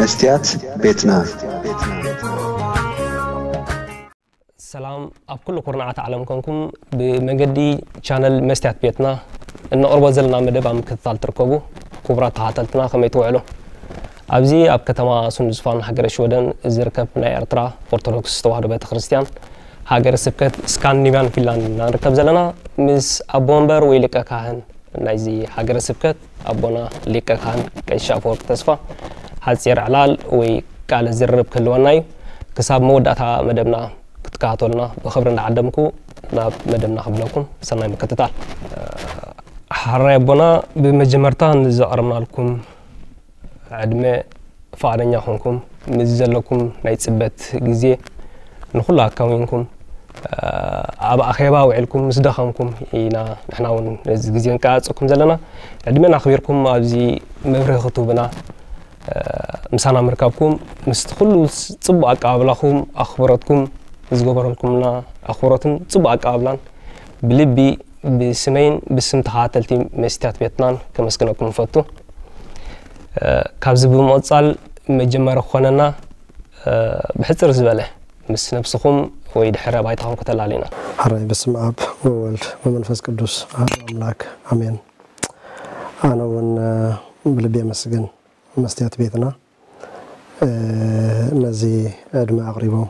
መስትያት ቤትና። ሰላም ኣብ ኩሉ ኩርናዓት ዓለም ኮንኩም ብመንገዲ ቻነል መስትያት ቤትና እነቕርቦ ዘለና መደብ ኣብ ምክትታል ትርከቡ ክቡራት ተኸታተልትና ከመይ ትውዕሉ? ኣብዚ ኣብ ከተማ ሱንድስፋን ሃገረ ሽወደን ዝርከብ ናይ ኤርትራ ኦርቶዶክስ ተዋህዶ ቤተክርስትያን ሃገረ ስብከት ስካንዲኔቭያን ፊንላንድ ኢና ንርከብ ዘለና። ምስ ኣቦ መንበር ወይ ሊቀ ካህን ናይዚ ሃገረ ስብከት ኣቦና ሊቀ ካህን ቀሺ ኣፈወርቂ ተስፋ ሓጺር ዕላል ወይ ቃለ ዝርርብ ክህልወና እዩ። ክሳብ መወዳእታ መደብና ክትከታተሉና ብኽብሪ እንዳዓደምኩ ናብ መደብና ክብለኩም ሰናይ ምክትታል። ሓራይ ኣቦና፣ ብመጀመርታ ንዘቕረብናልኩም ዕድመ፣ ፍቓደኛ ኮንኩም ምስ ዘለኩም ናይ ጽበት ግዜ ንኹሉ ኣካዊንኩም ኣብ ኣኼባ ውዒልኩም ምስ ደኸምኩም ኢና ንሕና እውን ነዚ ግዜ ንቀጻጸኩም ዘለና። ዕድመን ኣኽቢርኩም ኣብዚ መብርሂ ክትህቡና ምሳና ምርካብኩም ምስቲ ኩሉ ጽቡቕ ኣቀባብላኹም ኣኽብሮትኩም ዝገበረልኩምና ኣኽብሮትን ጽቡቕ ኣቀባብላን ብልቢ ብስመይን ብስም ተኸታተልቲ መስትያት ቤትናን ከመስግነኩም እፈቱ። ካብዚ ብምቕጻል መጀመሪ ክኾነና ብሕጽር ዝበለ ምስ ነብስኹም ወይ ድሕረ ባይታኹም ከተላልዩና። ሕራይ በስመ ኣብ ወወልድ ወመንፈስ ቅዱስ ኣሐዱ ኣምላክ ኣሜን። ኣነ እውን ብልቢ የመስግን መስትያት ቤትና ነዚ ዕድመ ኣቕሪቦም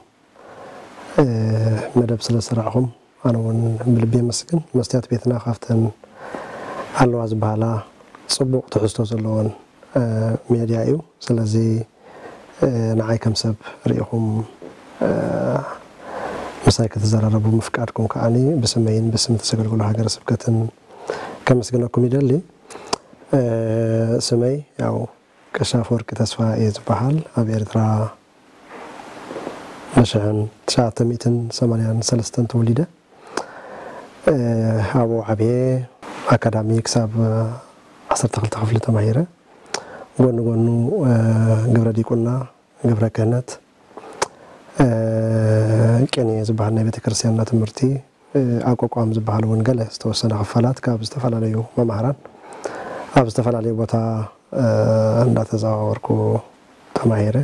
መደብ ስለ ዝሰራዕኹም ኣነ እውን ብልቢ የመስግን። መስትያት ቤትና ካብተን ኣለዋ ዝበሃላ ጽቡቕ ትሕዝቶ ዘለዎን ሜድያ እዩ። ስለዚ ንዓይ ከም ሰብ ርኢኹም ምሳይ ክትዘራረቡ ምፍቃድኩም ከዓኒ ብስመይን ብስም ተሰገልግሎ ሃገረ ስብከትን ከመስግነኩም ይደሊ። ስመይ ያው ቀሺ ኣፈወርቂ ተስፋ እየ ዝበሃል። ኣብ ኤርትራ ብሽሕን ትሽዓተ ሚእትን ሰማንያን ሰለስተን ተወሊደ። ኣብኡ ዓብየ። ኣካዳሚ ክሳብ ዓሰርተ ክልተ ክፍሊ ተማሂረ። ጎኒ ጎኑ ግብረ ዲቁና፣ ግብረ ክህነት፣ ቅኔ ዝበሃል ናይ ቤተክርስትያንና ትምህርቲ፣ ኣቋቋም ዝበሃል እውን ገለ ዝተወሰነ ክፋላት ካብ ዝተፈላለዩ መማህራን ኣብ ዝተፈላለዩ ቦታ እንዳተዘዋወርኩ ተማሂረ።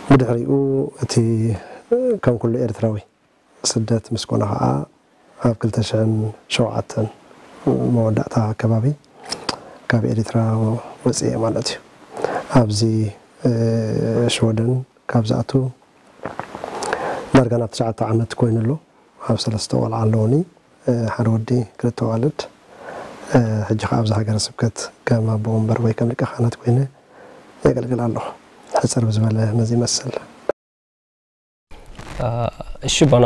ብድሕሪኡ እቲ ከም ኩሉ ኤርትራዊ ስደት ምስ ኮነ ከዓ ኣብ ክልተ ሽሕን ሸውዓተን መወዳእታ ኣከባቢ ካብ ኤሪትራ ወፅኤ ማለት እዩ። ኣብዚ ሽወደን ካብ ዝኣቱ ዳርጋ ናብ ትሽዓተ ዓመት ኮይኑ ኣሎ። ኣብ ሰለስተ ቆልዓ ኣለውኒ፣ ሓደ ወዲ ክልተ ኣዋልድ። ሕጂ ከዓ ኣብዚ ሃገረ ስብከት ከም ኣቦ ወንበር ወይ ከም ሊቀ ካህናት ኮይነ የገልግል ኣለኹ። ሕፅር ብዝበለ ነዚ ይመስል። እሺ ኣቦና፣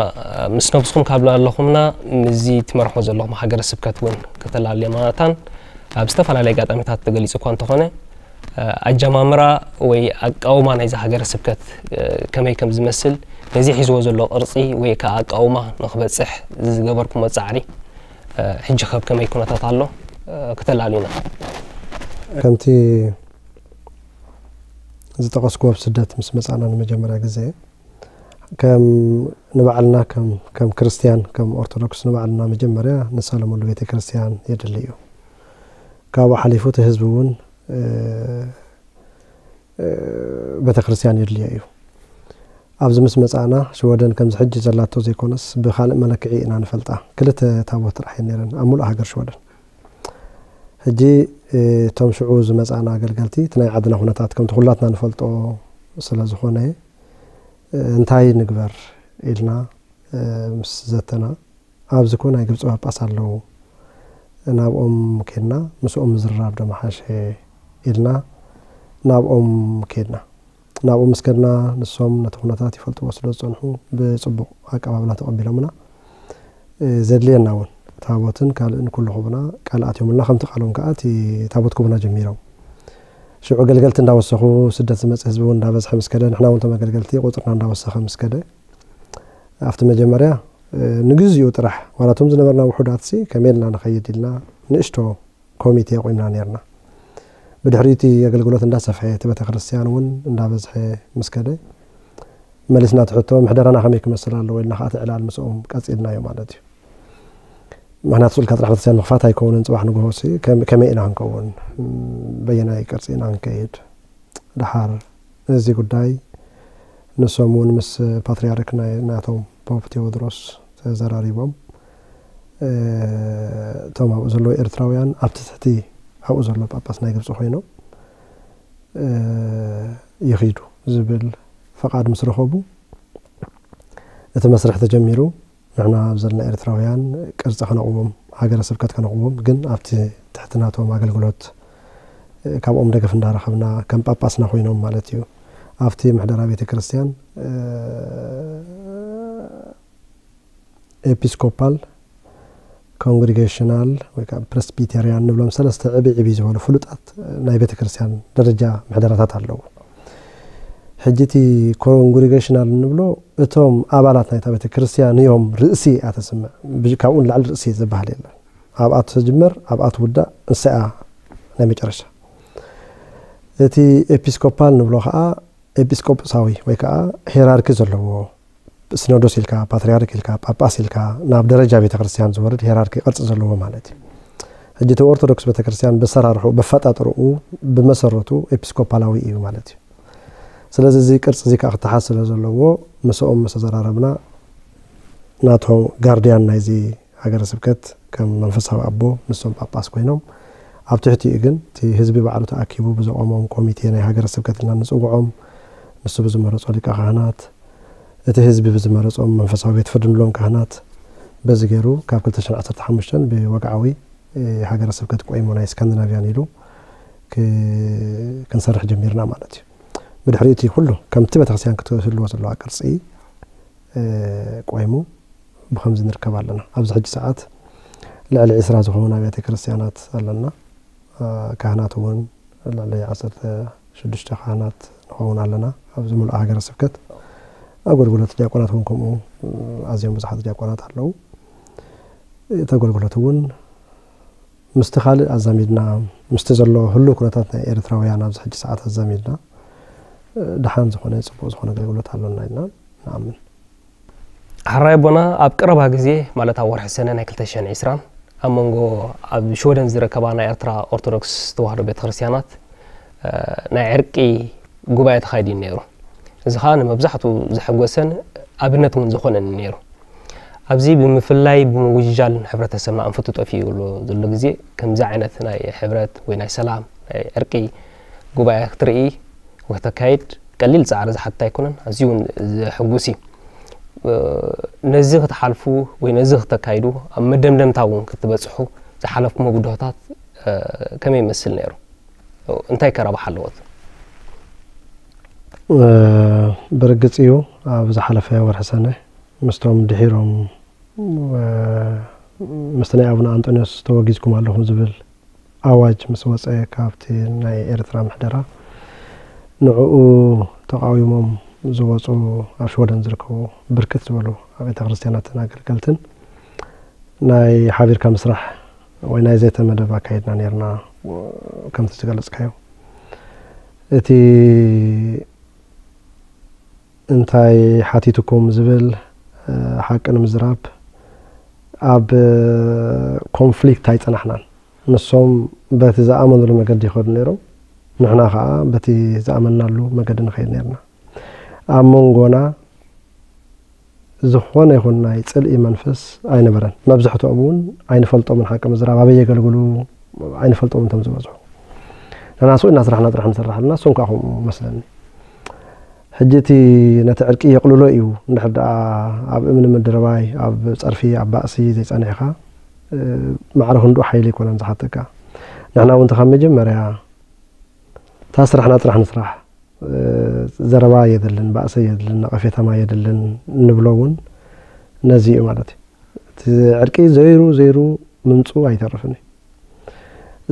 ምስ ነብስኹም ካብ ላለኹምና ምስዚ ትመርሖ ዘለኹም ሃገረ ስብከት እውን ከተላልየና መታን ኣብ ዝተፈላለየ ኣጋጣሚታት ተገሊጹ እኳ እንተኾነ ኣጀማምራ ወይ ኣቃውማ ናይዚ ሃገረ ስብከት ከመይ ከም ዝመስል ነዚ ሒዝዎ ዘሎ ቅርጺ ወይ ከዓ ኣቃውማ ንክበጽሕ ዝገበርኩሞ ጻዕሪ ሕጂ ከብ ከመይ ኩነታት ኣሎ ከተላልዩና። ከምቲ ዝጠቐስኩዎ ኣብ ስደት ምስ መጻና ንመጀመርያ ግዜ ከም ንባዕልና ከም ከም ክርስትያን ከም ኦርቶዶክስ ንባዕልና መጀመርያ ንሳለመሉ ቤተ ክርስትያን የድሊ እዩ። ካብኡ ሓሊፉ እቲ ህዝቢ እውን ቤተ ክርስትያን የድልዮ እዩ። ኣብዚ ምስ መጻእና ሽወደን ከምዚ ሕጂ ዘላቶ ዘይኮነስ ብካልእ መለክዒ ኢና ንፈልጣ። ክልተ ታቦት ጥራሕ እየን ነይረን ኣብ ሙሉእ ሃገር ሽወደን። ሕጂ እቶም ሽዑ ዝመጻእና ኣገልገልቲ እቲ ናይ ዓድና ኩነታት ከምቲ ኩላትና ንፈልጦ ስለ ዝኾነ እንታይ ንግበር ኢልና ምስ ዘተና ኣብዚ ኮ ናይ ግብፂ ጳጳስ ኣለዉ ናብኦም ኬድና ምስኦም ምዝርራብ ዶ ምሓሸ ኢልና ናብኦም ኬድና። ናብኡ ምስ ከድና ንሶም ነቲ ኩነታት ይፈልጥዎ ስለ ዝጸንሑ ብጽቡቕ ኣቀባብላ ተቐቢሎምና። ዘድልየና እውን ታቦትን ካልእን ኩሉ ክቡና ቃል ኣትዮምልና። ከምቲ ቃሎም ከኣ እቲ ታቦት ክቡና ጀሚሮም። ሽዑ ኣገልገልቲ እንዳወሰኹ ስደት ዝመጽእ ህዝቢ እውን እንዳበዝሐ ምስ ከደ ንሕና እውን እቶም ኣገልገልቲ ቁጽርና እንዳወሰኸ ምስ ከደ ኣብቲ መጀመርያ ንግዚኡ ጥራሕ ዋላ እቶም ዝነበርና ውሑዳትሲ ከመይ ኢልና ንኸይድ ኢልና ንእሽቶ ኮሚቴ ኣቑምና ነይርና። ብድሕሪ እቲ ኣገልግሎት እንዳሰፍሐ እቲ ቤተክርስትያን እውን እንዳበዝሐ ምስ ከደ መሊስና እቲ ሕቶ ምሕደራና ከመይ ክመስል ኣለዎ ኢልና ከዓ እቲ ዕላል ምስኦም ቀፂልናዮ ማለት እዩ። ምክንያቱ ስልካ ጥራሕ ቤተክርስትያን ምኽፋት ኣይከውንን ፅባሕ ንግሆ ሲ ከመይ ኢና ክንከውን በየናይ ቅርፂ ኢና ክንከይድ ደሓር እዚ ጉዳይ ንሶም እውን ምስ ፓትርያርክ ናይ ናቶም ፖፕ ቴዎድሮስ ተዘራሪቦም፣ እቶም ኣብኡ ዘለዉ ኤርትራውያን ኣብቲ ትሕቲ ኣብኡ ዘሎ ጳጳስ ናይ ግብፂ ኮይኖም ይኺዱ ዝብል ፈቓድ ምስ ረኸቡ፣ እቲ መስርሕ ተጀሚሩ። ንሕና ኣብ ዘለና ኤርትራውያን ቅርፂ ከነቕዎም፣ ሃገረ ስብከት ከነቕዎም፣ ግን ኣብቲ ትሕቲ ናቶም ኣገልግሎት ካብኦም ደገፍ እንዳረኸብና ከም ጳጳስና ኮይኖም ማለት እዩ። ኣብቲ ምሕደራ ቤተ ክርስቲያን ኤፒስኮፓል፣ ኮንግሪጌሽናል ወይ ከዓ ፕሬስቢቴሪያን ንብሎም ሰለስተ ዕብይ ዕብይ ዝበሉ ፍሉጣት ናይ ቤተ ክርስቲያን ደረጃ ምሕደራታት ኣለዉ። ሕጂ እቲ ኮንግሪጌሽናል እንብሎ እቶም ኣባላት ናይታ ቤተ ክርስቲያን እዮም ርእሲ እያ ተስምዕ። ብጅ-፣ ካብኡ ንላዕሊ ርእሲ ዝበሃል የለን። ኣብኣ ትጅመር፣ ኣብኣ ትውዳእ፣ ንሳ እያ ናይ መጨረሻ። እቲ ኤፒስኮፓል ንብሎ ከዓ ኤጲስቆጶሳዊ ወይ ከዓ ሄራርኪ ዘለዎ፣ ሲኖዶስ ኢልካ፣ ፓትርያርክ ኢልካ፣ ጳጳስ ኢልካ፣ ናብ ደረጃ ቤተ ክርስቲያን ዝወርድ ሄራርኪ ቅርጺ ዘለዎ ማለት እዩ። ሕጂ እቲ ኦርቶዶክስ ቤተ ክርስቲያን በሰራርሑ፣ በፈጣጥርኡ፣ ብመሰረቱ ኤፒስኮፓላዊ እዩ ማለት እዩ። ስለዚ እዚ ቅርጺ እዚ ከዓ ክተሓዝ ስለ ዘለዎ ምስኦም ምስ ተዘራረብና ናቶም ጋርድያን ናይዚ ሃገረ ስብከት ከም መንፈሳዊ ኣቦ ንሶም ጳጳስ ኮይኖም፣ ኣብ ትሕቲኡ ግን እቲ ህዝቢ ባዕሉ ተኣኪቡ ብዘቖሞም ኮሚቴ ናይ ሃገረ ስብከት ኢልና ንጽውዖም፣ ንሱ ብዝመረጾ ሊቀ ካህናት፣ እቲ ህዝቢ ብዝመረጾም መንፈሳዊ ቤት ፍርዲ ንብሎም ካህናት፣ በዚ ገይሩ ካብ ክልተ ሽሕን ዓሰርተ ሓሙሽተን ብወግዓዊ ሃገረ ስብከት ቆይሙ ናይ ስካንዲናቭያን ኢሉ ክ-፣ ክንሰርሕ ጀሚርና ማለት እዩ። ብድሕሪ እቲ ኩሉ ከምቲ ቤተክርስትያን ክትህልዎ ዘለዋ ቅርጺ ቆይሙ ብኸምዚ ንርከብ ኣለና። ኣብዚ ሕጂ ሰዓት ልዕሊ ዕስራ ዝኾኑ ኣብያተ ክርስቲያናት ኣለና። ካህናት እውን ልዕሊ ዓሰርተ ሽዱሽተ ካህናት ንኸውን ኣለና ኣብዚ ምሉእ ሃገረ ስብከት። ኣገልግሎት ዲያቆናት እውን ከምኡ ኣዝዮም ብዙሓት ዲያቆናት ኣለዉ። እቲ ኣገልግሎት እውን ምስቲ ካልእ ኣዛሚድና፣ ምስቲ ዘሎ ህሉው ኩነታት ናይ ኤርትራውያን ኣብዚ ሕጂ ሰዓት ኣዛሚድና፣ ደሓን ዝኾነ ጽቡቕ ዝኾነ ኣገልግሎት ኣሎና ኢልና ንኣምን። ሕራይ ኣቦና፣ ኣብ ቀረባ ግዜ፣ ማለት ኣብ ወርሒ ሰነ ናይ ክልተ ሽሕን ዕስራን፣ ኣብ መንጎ ኣብ ሽወደን ዝርከባ ናይ ኤርትራ ኦርቶዶክስ ተዋህዶ ቤተክርስትያናት፣ እ፣ ናይ ዕርቂ ጉባኤ ተኻይዱ እዩ ነይሩ። እዚ ኸኣ ንመብዛሕትኡ ዘሐጎሰን ኣብነት እውን ዝኾነን ነይሩ። ኣብዚ ብምፍላይ ብምውጅጃል ሕብረተሰብና ኣንፈቱ ጠፊኡ ዘሎ፣ ዘሎ ግዜ ከምዚ ዓይነት ናይ ሕብረት ወይ ናይ ሰላም ናይ ዕርቂ ጉባኤ ክትርኢ ወይ ከተካይድ ቀሊል ጻዕሪ ዝሓትት ኣይኮነን። ኣዝዩ እውን ዘሐጉስ እዩ። እ፣ ነዚ ክትሓልፉ ወይ ነዚ ክተካይዱ ኣብ መደምደምታ እውን ክትበጽሑ ዝሓለፍኩሞ ብድሆታት፣ እ፣ ከመይ ይመስል ነይሩ? እንታይ ከ ረብሓ ኣለዎት? እ፣ ብርግጽ እዩ፣ ኣብ ዝሓለፈ ወርሒ ሰነ ምስቶም ድሒሮም፣ እ፣ ምስቲ ናይ ኣቡነ ኣንጦንዮስ ተወጊዝኩም ኣለኹም ዝብል ኣዋጅ ምስ ወጸ ካብቲ ናይ ኤርትራ ምሕደራ፣ ንዕኡ ተቓዊሞም ዝወጹ ኣብ ሽወደን ዝርከቡ ብርክት ዝበሉ ኣብ ቤተ ክርስቲያናትን ኣገልገልትን ናይ ሓቢርካ ምስራሕ ወይ ናይ ዘተ መደብ ኣካይድና ነይርና። ከምቲ ዝገለጽካዮ፣ እቲ እንታይ ሓቲትኩም ዝብል፣ እ፣ ሓቂ ንምዝራብ ኣብ ኮንፍሊክት ኣይጸናሕናን። ንሶም በቲ ዝኣመኑሉ መገዲ ይኸዱ ነይሮም፣ ንሕና ኸኣ በቲ ዝኣመንናሉ መገዲ ንኸይድ ነይርና። ኣብ መንጎና ዝኾነ ይኹን ናይ ጽልኢ መንፈስ ኣይነበረን። መብዛሕትኦም እውን ኣይንፈልጦምን፣ ሓቂ ምዝራብ ኣበይ የገልግሉ ኣይንፈልጦምን እቶም ዝበዝሑ። ንሕና ስቕ ኢልና ስራሕና ጥራሕ ንሰርሕ ኣለና፣ እሶም ከኣ ከምኡ መስለኒ። ሕጂ እቲ ነቲ ዕርቂ የቕልሎ እዩ፣ እንድሕር ደኣ ኣብ እምኒ ምድርባይ፣ ኣብ ጸርፊ፣ ኣብ ባእሲ ዘይጸኒሕካ፣ እ፣ ማዕረ ክንድኡ ሓይሊ ኣይኮነን ዝሓተካ። ንሕና እውን እቲ ካብ መጀመርያ እታ ስራሕና ጥራሕ ንስራሕ፣ እ፣ ዘረባ የድልን፣ ባእሲ የድልን፣ ነቐፌታ የድልን ንብሎ እውን ነዚ እዩ ማለት እዩ። እቲ ዕርቂ ዘይሩ ዘይሩ ምምጽኡ ኣይተርፍን እዩ።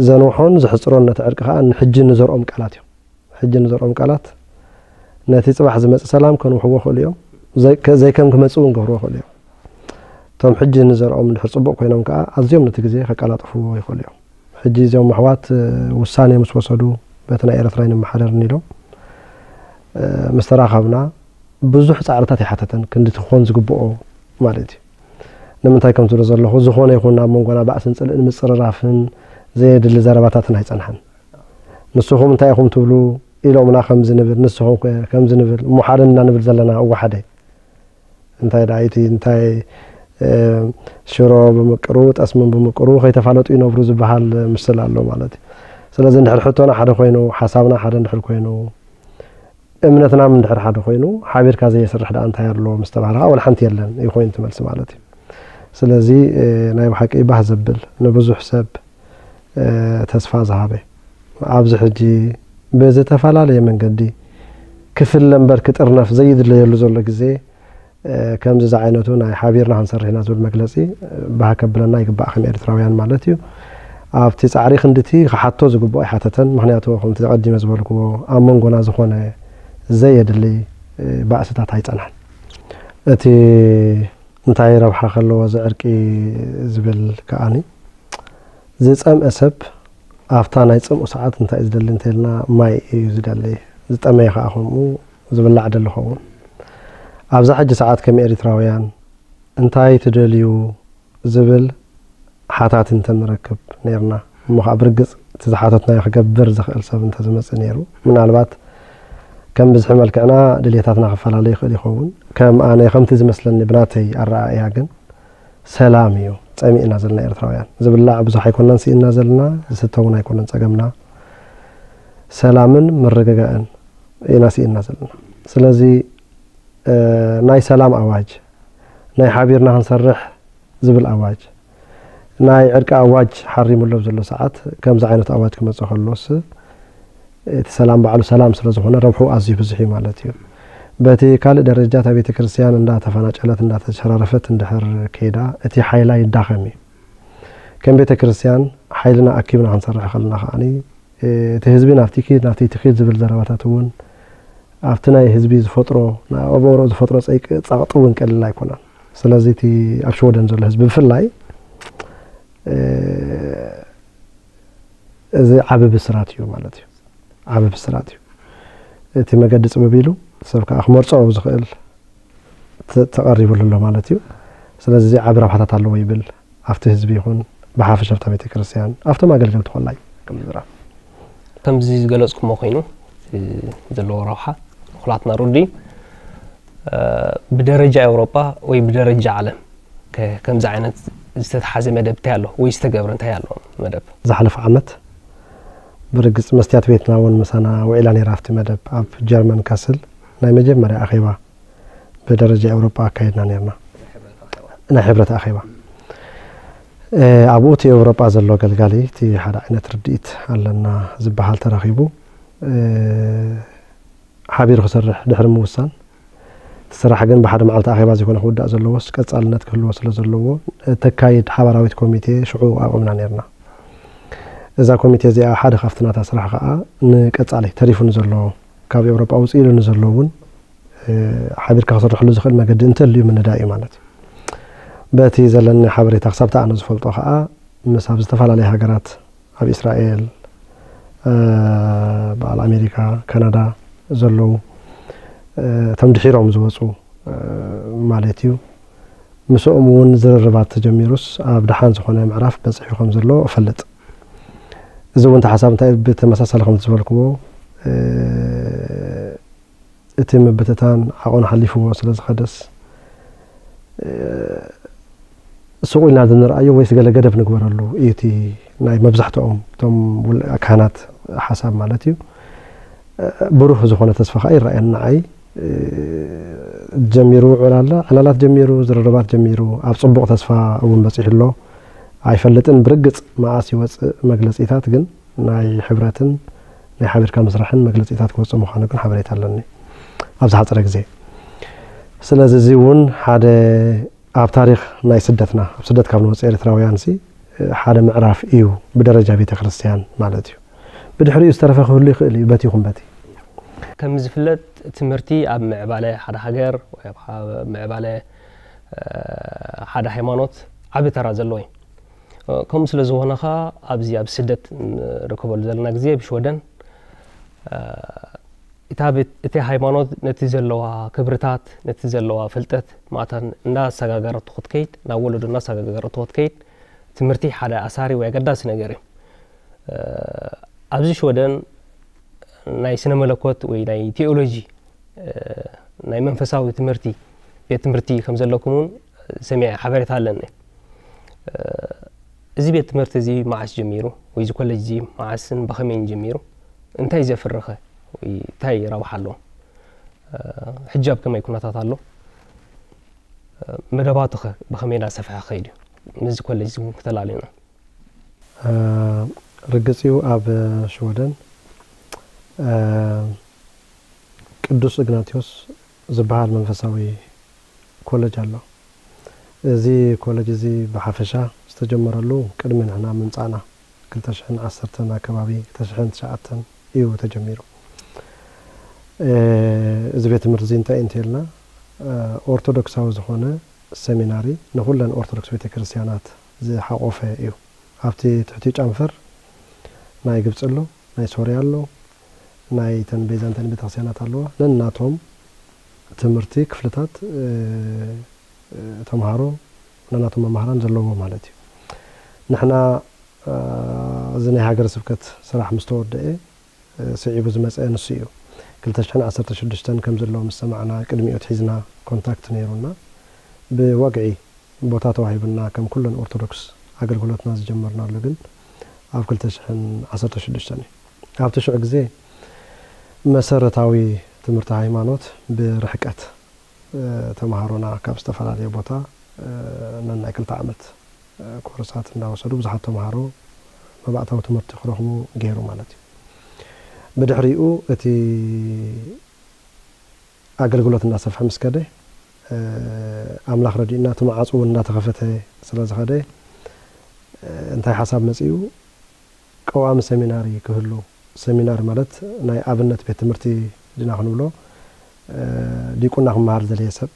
ዘንውሖን ዘሕጽሮን ነቲ ዕርቂ ከኣ ንሕጂ ንዘርኦም ቃላት እዮም። ሕጂ ንዘርኦም ቃላት ነቲ ጽባሕ ዝመጽእ ሰላም ከንውሕዎ ይኽእሉ እዮም። ዘይ-፣ ከ-፣ ዘይከም ክመጽእ እውን ክገብርዎ ይኽእሉ እዮም። እቶም ሕጂ ንዘርኦም እንድሕር ጽቡቕ ኮይኖም ከኣ ኣዝዮም ነቲ ግዜ ከቀላጥፍዎ ይኽእሉ እዮም። ሕጂ እዚኦም ኣሕዋት፣ እ፣ ውሳኔ ምስ ወሰዱ በቲ ናይ ኤርትራ ኣይንመሓደርን ኢሎም፣ እ፣ ምስ ተራኸብና ብዙሕ ጻዕርታት ኣይሓተተን፣ ክንዲ እቲ ክኾን ዝግብኦ ማለት እዩ። ንምንታይ ከም ትብሎ ዘለኹ፣ ዝኾነ ይኹን ኣብ መንጎና ባእስን ጽልእን ምጽርራፍን ዘየድሊ ዘረባታትን ኣይጸንሐን። ንስኹም እንታይ ኢኹም ትብሉ? ኢሎምና ከምዚ ንብል፣ ንስኹም ከ ከምዚ ንብል፣ እሞ ሓደ እና ንብል ዘለና እወ ሓደ። እንታይ ደኣ እቲ፣ እንታይ፣ እ፣ ሽሮ ብምቅሩ፣ ጠስምን ብምቅሩ ከይተፋለጡ ይነብሩ ዝበሃል ምስል ኣሎ ማለት እዩ። ስለዚ እንድሕር ሕቶና ሓደ ኮይኑ፣ ሓሳብና ሓደ እንድሕር ኮይኑ፣ እምነትና እንድሕር ሓደ ኮይኑ፣ ሓቢርካ ዘየስርሕ ደኣ እንታይ ኣሎ ምስ ተባህለ ከዓ ወላ ሓንቲ የለን እዩ ኮይኑ እቲ መልሲ ማለት እዩ። ስለዚ፣ እ፣ ናይ ብሓቂ ባህ ዘብል ንብዙሕ ሰብ፣ እ፣ ተስፋ ዝሃበ ኣብዚ ሕጂ ብዝተፈላለየ መንገዲ ክፍለ እምበር ክጥርነፍ ዘይድለየሉ ዘሎ ግዜ፣ እ፣ ከምዚ ዝዓይነቱ ናይ ሓቢርና ክንሰርሕ ኢና ዝብል መግለጺ፣ እ፣ ባህ ከብለና ይግባእ ከም ኤርትራውያን ማለት እዩ። ኣብቲ ጻዕሪ ክንድቲ ክሓቶ ዝግብኦ ኣይሓተተን። ምኽንያቱ ከምቲ ቀዲመ ዝበልክዎ ኣብ መንጎና ዝኾነ ዘየድሊ፣ እ፣ ባእስታት ኣይጸንሐን። እቲ እንታይ ረብሓ ከለዎ እዚ ዕርቂ ዝብል ከኣኒ ዝጸምአ ሰብ ኣብታ ናይ ጽምኡ ሰዓት እንታይ እዩ ዝደሊ እንተኢልና ማይ እዩ ዝደሊ። ዝጠመየ ከኣ ከምኡ ዝብላዕ ደሊ ኸውን። ኣብዛ ሕጂ ሰዓት ከም ኤሪትራውያን እንታይ ትደልዩ ዝብል ሓታት እንተንረክብ ነይርና እሞ ከዓ ብርግጽ እቲ ዝሓተትናዮ ክገብር ዝኽእል ሰብ እንተዝመጽእ ነይሩ ምናልባት ከም ብዝሒ መልክዕና ድሌታትና ክፈላለ ይኽእል ይኸውን። ከም ኣነ ከምቲ ዝመስለኒ ብናተይ ኣረኣእያ ግን ሰላም እዩ ጸሚእና ዘለና ኤርትራውያን። ዝብላዕ ብዙሕ ኣይኮናን ስኢንና ዘለና፣ ዝስተ እውን ኣይኮነን ጸገምና። ሰላምን ምርግጋእን ኢና ስኢንና ዘለና። ስለዚ፣ እ፣ ናይ ሰላም ኣዋጅ፣ ናይ ሓቢርና ክንሰርሕ ዝብል ኣዋጅ፣ ናይ ዕርቂ ኣዋጅ ሓሪሙ ኣሎ ኣብ ዘሎ ሰዓት፣ ከምዚ ዓይነት ኣዋጅ ክመጽእ ከሎስ፣ እቲ ሰላም ባዕሉ ሰላም ስለ ዝኾነ ረብሑ ኣዝዩ ብዙሕ እዩ ማለት እዩ። በቲ ካልእ ደረጃ እታ ቤተ ክርስቲያን እንዳተፈናጨለት እንዳተሸራረፈት እንድሕር ከይዳ እቲ ሓይላ ይዳኸም እዩ። ከም ቤተ ክርስቲያን ሓይልና ኣኪብና ክንሰርሕ ከለና ከዓኒ እቲ ህዝቢ ናብቲ ኪድ ናብቲ ትኺድ ዝብል ዘረባታት እውን ኣብቲ ናይ ህዝቢ ዝፈጥሮ ኣብ ኣእምሮ ዝፈጥሮ ጸይቂ ጸቕጢ እውን ቀሊል ኣይኮነን። ስለዚ እቲ ኣብ ሽወደን ዘሎ ህዝቢ ብፍላይ እዚ ዓቢ ብስራት እዩ ማለት እዩ። ዓቢ ብስራት እዩ። እቲ መገዲ ጽብብ ኢሉ ሰብ ከዓ ክመርጾ ዝኽእል ተ-፣ ተቐሪቡሉ ኣሎ ማለት እዩ። ስለዚ እዚ ዓቢ ረብሓታት ኣለዎ ይብል ኣብቲ ህዝቢ ይኹን ብሓፈሻ ኣብታ ቤተ ክርስቲያን ኣብቶም ኣገልገልቲ ኮላይ ክምዝራ ከምዚ ዝገለጽኩሞ ኮይኑ እቲ ዘለዎ ረብሓ ንኩላትና ርዱ እዩ። እ፣ ብደረጃ ኤውሮጳ ወይ ብደረጃ ዓለም ከ-፣ ከምዚ ዓይነት ዝተተሓዘ መደብ እንታይ ኣሎ ወይ ዝተገብረ እንታይ ኣሎ መደብ? ዝሓለፈ ዓመት ብርግጽ መስትያት ቤትና እውን ምሳና ውዒላ ነይራ ኣብቲ መደብ ኣብ ጀርመን ካስል ናይ መጀመርያ ኣኼባ ብደረጃ ኤውሮጳ ኣካይድና ነርና ናይ ሕብረት ኣኼባ። እ፣ ኣብኡ እቲ ኤውሮጳ ዘሎ ገልጋሊ እቲ ሓደ ዓይነት ርድኢት ኣለና ዝበሃል ተረኺቡ፣ እ፣ ሓቢሩ ክሰርሕ ድሕሪ ምውሳን፣ እቲ ስራሕ ግን ብሓደ መዓልቲ ኣኼባ ዘይኮነ ክውዳእ ዘለዎስ ቀጻልነት ክህልዎ ስለ ዘለዎ፣ ተካይድ ሓባራዊት ኮሚቴ ሽዑ ኣቑምና ነርና። እዛ ኮሚቴ እዚኣ ሓደ ካብቲ ናታ ስራሕ ከኣ ንቀጻሊ ተሪፉ ንዘሎ፣ ካብ ኤውሮጳ ውጽእ ኢሉ ንዘሎ እውን፣ እ፣ ሓቢርካ ክስርሐሉ ዝኽእል መገዲ እንተልዩ ምንዳእ እዩ ማለት እዩ። በቲ ዘለኒ ሓበሬታ ክሳብ እቲ ኣነ ዝፈልጦ ከኣ ምስ ኣብ ዝተፈላለያ ሃገራት ኣብ እስራኤል፣ እ፣ በዓል ኣሜሪካ፣ ካናዳ ዘለዉ፣ እ፣ እቶም ድሒሮም ዝወጹ፣ እ፣ ማለት እዩ። ምስኦም እውን ዝርርባት ተጀሚሩስ ኣብ ደሓን ዝኾነ ምዕራፍ በጺሑ ከም ዘሎ እፈልጥ። እዚ እውን እቲ ሓሳብ እንታይ ብተመሳሳሊ ከም ዝበልክዎ፣ እ፣ እቲ ምብትታን ዓቐኑ ሓሊፍዎ ስለ ዝኸደስ፣ እ፣ ስቕ ኢልና ዶ ንርኣዮ ወይስ ገለ ገደብ ንግበረሉ እዩ እቲ ናይ መብዛሕትኦም እቶም ውል-፣ ካህናት ሓሳብ ማለት እዩ። እ፣ ብሩህ ዝኾነ ተስፋ ከኣ ይረኣየኒ ንዓይ። እ፣ ጀሚሩ ዕላላ፣ ዕላላት ጀሚሩ፣ ዝርርባት ጀሚሩ፣ ኣብ ጽቡቕ ተስፋ እውን በጺሑ ኣሎ። ኣይፈልጥን ብርግጽ መዓስ ይወጽእ መግለጺታት፣ ግን ናይ ሕብረትን ናይ ሓቢርካ ምስራሕን መግለጺታት ክወጽእ ምዃኑ ግን ሓበሬታ ኣለኒ ኣብ ዝሓጸረ ግዜ። ስለዚ እዚ እውን ሓደ ኣብ ታሪኽ ናይ ስደትና፣ ኣብ ስደት ካብ ንወጽእ ኤርትራውያን ሲ ሓደ ምዕራፍ እዩ ብደረጃ ቤተ ክርስቲያን ማለት እዩ። ብድሕሪኡ ዝተረፈ ክህሉ ይኽእል እዩ፣ በቲ ይኹን በቲ። ከም ዝፍለጥ ትምህርቲ ኣብ ምዕባለ ሓደ ሃገር ወይ ኣብ ሓ-፣ ምዕባለ፣ እ፣ ሓደ ሃይማኖት ዓቢ ተራ ዘለዎ እዩ። እ፣ ከምኡ ስለ ዝኾነ ኸኣ ኣብዚ ኣብ ስደት ንርከበሉ ዘለና ግዜ ብሽወደን፣ እ፣ እታ ቤት-፣ እቲ ሃይማኖት ነቲ ዘለዋ ክብርታት፣ ነቲ ዘለዋ ፍልጠት ማእታን እንዳሰጋገረቶ ክትከይድ፣ ናብ ወለዶ እንዳሰጋገረቶ ክትከይድ፣ ትምህርቲ ሓደ ኣሳሪ ወይ ኣገዳሲ ነገር እዩ። እ፣ ኣብዚ ሽወደን ናይ ስነ መለኮት ወይ ናይ ቴዎሎጂ ናይ መንፈሳዊ ትምህርቲ ቤት ትምህርቲ ከም ዘለኩም እውን ሰሚዐ ሓበሬታ ኣለኒ። እዚ ቤት ትምህርቲ እዚ መዓስ ጀሚሩ ወይ እዚ ኮሌጅ እዚ መዓስን ብኸመይን ጀሚሩ እንታይ ዘፍርኸ ወይ እንታይ ረብሓ ኣለዎ? ሕጂ ኣብ ከመይ ኩነታት ኣሎ? መደባቱ ኸ ብኸመይ እናሰፍሐ ኸይዱ? ምስዚ ኮሌጅ እዚ እውን ክተላልዩና። ርግጽ እዩ ኣብ ሽወደን ቅዱስ እግናቲዮስ ዝበሃል መንፈሳዊ ኮለጅ ኣሎ። እዚ ኮለጅ እዚ ብሓፈሻ ዝተጀመረሉ ቅድሚ ንሕና ምምጻእና ክልተ ሽሕን ዓሰርተን ኣከባቢ ክልተ ሽሕን ትሽዓተን እዩ ተጀሚሩ። እዚ ቤት ትምህርቲ እዚ እንታይ እንተልና ኦርቶዶክሳዊ ዝኾነ ሰሚናሪ ንኹለን ኦርቶዶክስ ቤተክርስትያናት ዝሓቆፈ እዩ። ኣብቲ ትሕቲ ጨንፈር ናይ ግብፂ ኣሎ፣ ናይ ሶርያ ኣሎ፣ ናይ ተን ቤዛንታይን ቤተክርስትያናት ኣለዋ። ነናቶም ትምህርቲ ክፍልታት ተምሃሮ ነናቶም መማህራን ዘለዎ ማለት እዩ። ንሕና እዚ ናይ ሃገረ ስብከት ስራሕ ምስ ተወደአ ስዒቡ ዝመፀ ንሱ እዩ። ክልተ ሽሕን ዓሰርተ ሽዱሽተን ከም ዘለዎ ምስ ሰማዕና ቅድሚኡ ትሒዝና ኮንታክት ነይሩና ብወግዒ ቦታ ተዋሂቡና ከም ኩለን ኦርቶዶክስ ኣገልግሎትና ዝጀመርናሉ ግን ኣብ ክልተ ሽሕን ዓሰርተ ሽዱሽተን እዩ። ኣብቲ ሽዑ ግዜ መሰረታዊ ትምህርቲ ሃይማኖት ብርሕቀት ተምሃሮና ካብ ዝተፈላለየ ቦታ ነናይ ክልተ ዓመት ኮርሳት እንዳወሰዱ ብዙሓት ተምሃሮ መባእታዊ ትምህርቲ ክረኽቡ ገይሩ ማለት እዩ። ብድሕሪኡ እቲ ኣገልግሎት እናሰፍሐ ምስ ከደ ኣምላኽ ረዲኡና እቲ መዓፁ እውን እንዳተኸፈተ ስለ ዝኸደ እንታይ ሓሳብ መፂኡ ቀዋሚ ሰሚናሪ ክህሉ፣ ሰሚናሪ ማለት ናይ ኣብነት ቤት ትምህርቲ ድና ክንብሎ ዲቁና ክመሃር ዝደለየ ሰብ፣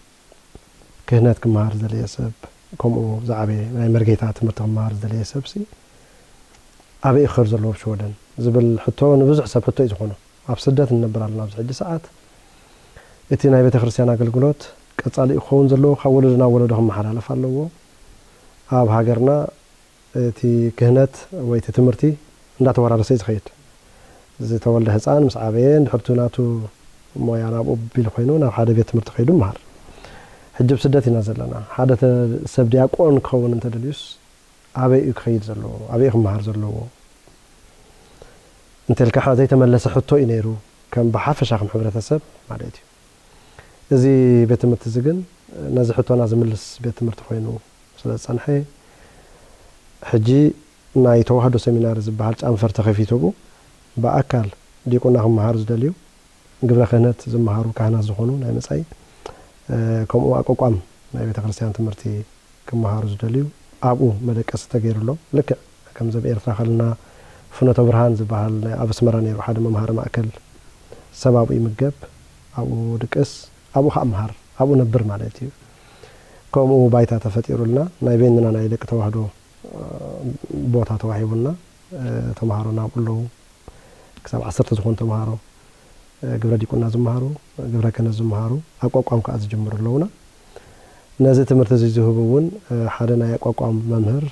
ክህነት ክመሃር ዝደለየ ሰብ፣ ከምኡ ዝዓበየ ናይ መርጌታ ትምህርቲ ክመሃር ዝደለየ ሰብ ሲ ኣበይ ክኸድ ዘለዎ ሽወደን ዝብል ሕቶ ንብዙሕ ሰብ ሕቶ እዩ ዝኾኖ። ኣብ ስደት ንነብር ኣለና ኣብዚ ሕጂ ሰዓት። እቲ ናይ ቤተ ክርስቲያን ኣገልግሎት ቀጻሊ ክኸውን ዘለዎ ካብ ወለዶ ናብ ወለዶ ክመሓላለፍ ኣለዎ። ኣብ ሃገርና እቲ ክህነት ወይ እቲ ትምህርቲ እንዳተወራረሰ እዩ ዝኸይድ። ዝተወልደ ህፃን ምስ ዓበየ እንድሕር እቲ ናቱ ሞያ ናብኡ ቢሉ ኮይኑ ናብ ሓደ ቤት ትምህርቲ ከይዱ ይመሃር። ሕጂ ኣብ ስደት ኢና ዘለና። ሓደ ሰብ ዲያቆን ክኸውን እንተደልዩስ ኣበይ እዩ ክኸይድ ዘለዎ? ኣበይ እዩ ክመሃር ዘለዎ? እንተልካ ዘይተመለሰ ሕቶ እዩ ነይሩ ከም ብሓፈሻ ከም ሕብረተሰብ ማለት እዩ። እዚ ቤት ትምህርቲ እዚ ግን ነዚ ሕቶና ዝምልስ ቤት ትምህርቲ ኮይኑ ስለ ዝፀንሐ ሕጂ ናይ ተዋህዶ ሰሚናሪ ዝበሃል ጫንፈር ተኸፊቱ ብኡ ብኣካል ዲቁና ክመሃሩ ዝደልዩ ግብረ ክህነት ዝመሃሩ ካህናት ዝኾኑ ናይ መጻኢ ከምኡ ኣቋቋም ናይ ቤተ ክርስቲያን ትምህርቲ ክመሃሩ ዝደልዩ ኣብኡ መደቀሲ ተገይሩሎም። ልክዕ ከምዚ ኣብ ኤርትራ ከለና ፍኖተ ብርሃን ዝበሃል ናይ ኣብ ኣስመራ ነይሩ ሓደ መምሃሪ ማእከል ሰብ ኣብኡ ይምገብ፣ ኣብኡ ድቅስ፣ ኣብኡ ከዓ መሃር፣ ኣብኡ ነብር ማለት እዩ። ከምኡ ባይታ ተፈጢሩልና ናይ በይንና ናይ ደቂ ተዋህዶ ቦታ ተዋሂቡና ተምሃሮ ናብኡ ኣለዉ። ክሳብ ዓሰርተ ዝኾኑ ተምሃሮ ግብረ ዲቁና ዝመሃሩ፣ ግብረ ክህነት ዝመሃሩ ኣቋቋም ከዓ ዝጅምሩ ኣለዉና። ነዚ ትምህርቲ እዚ ዝህቡ እውን ሓደ ናይ ኣቋቋም መምህር፣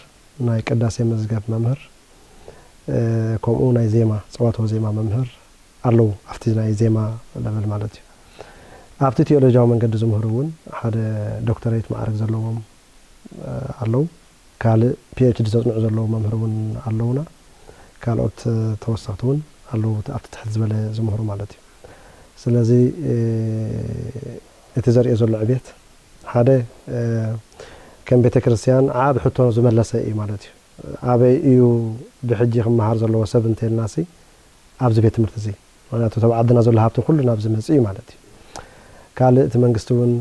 ናይ ቅዳሴ መዝገብ መምህር፣ ከምኡ ናይ ዜማ ፀዋትወ ዜማ መምህር ኣለዉ። ኣብቲ ናይ ዜማ ለበል ማለት እዩ። ኣብቲ ቴዎሎጂያዊ መንገዲ ዝምህሩ እውን ሓደ ዶክተሬት ማዕረግ ዘለዎም ኣለዉ። ካልእ ፒኤችዲ ዘፅንዑ ዘለዉ መምህር እውን ኣለዉና። ካልኦት ተወሰኽቲ እውን ኣለዉ ኣብቲ ትሕት ዝበለ ዝምህሩ ማለት እዩ። ስለዚ እቲ ዘርእዮ ዘሎ ዕቤት ሓደ ከም ቤተ ክርስቲያን ዓብ ሕቶ ዝመለሰ እዩ ማለት እዩ። ኣበይ እዩ ብሕጂ ክመሃር ዘለዎ ሰብ እንተልናሲ ኣብዚ ቤት ትምህርቲ እዚ ምክንያቱ ተብ ዓድና ዘሎ ሃብቲ ኩሉ ናብዚ መፅእ እዩ ማለት እዩ። ካልእ እቲ መንግስቲ እውን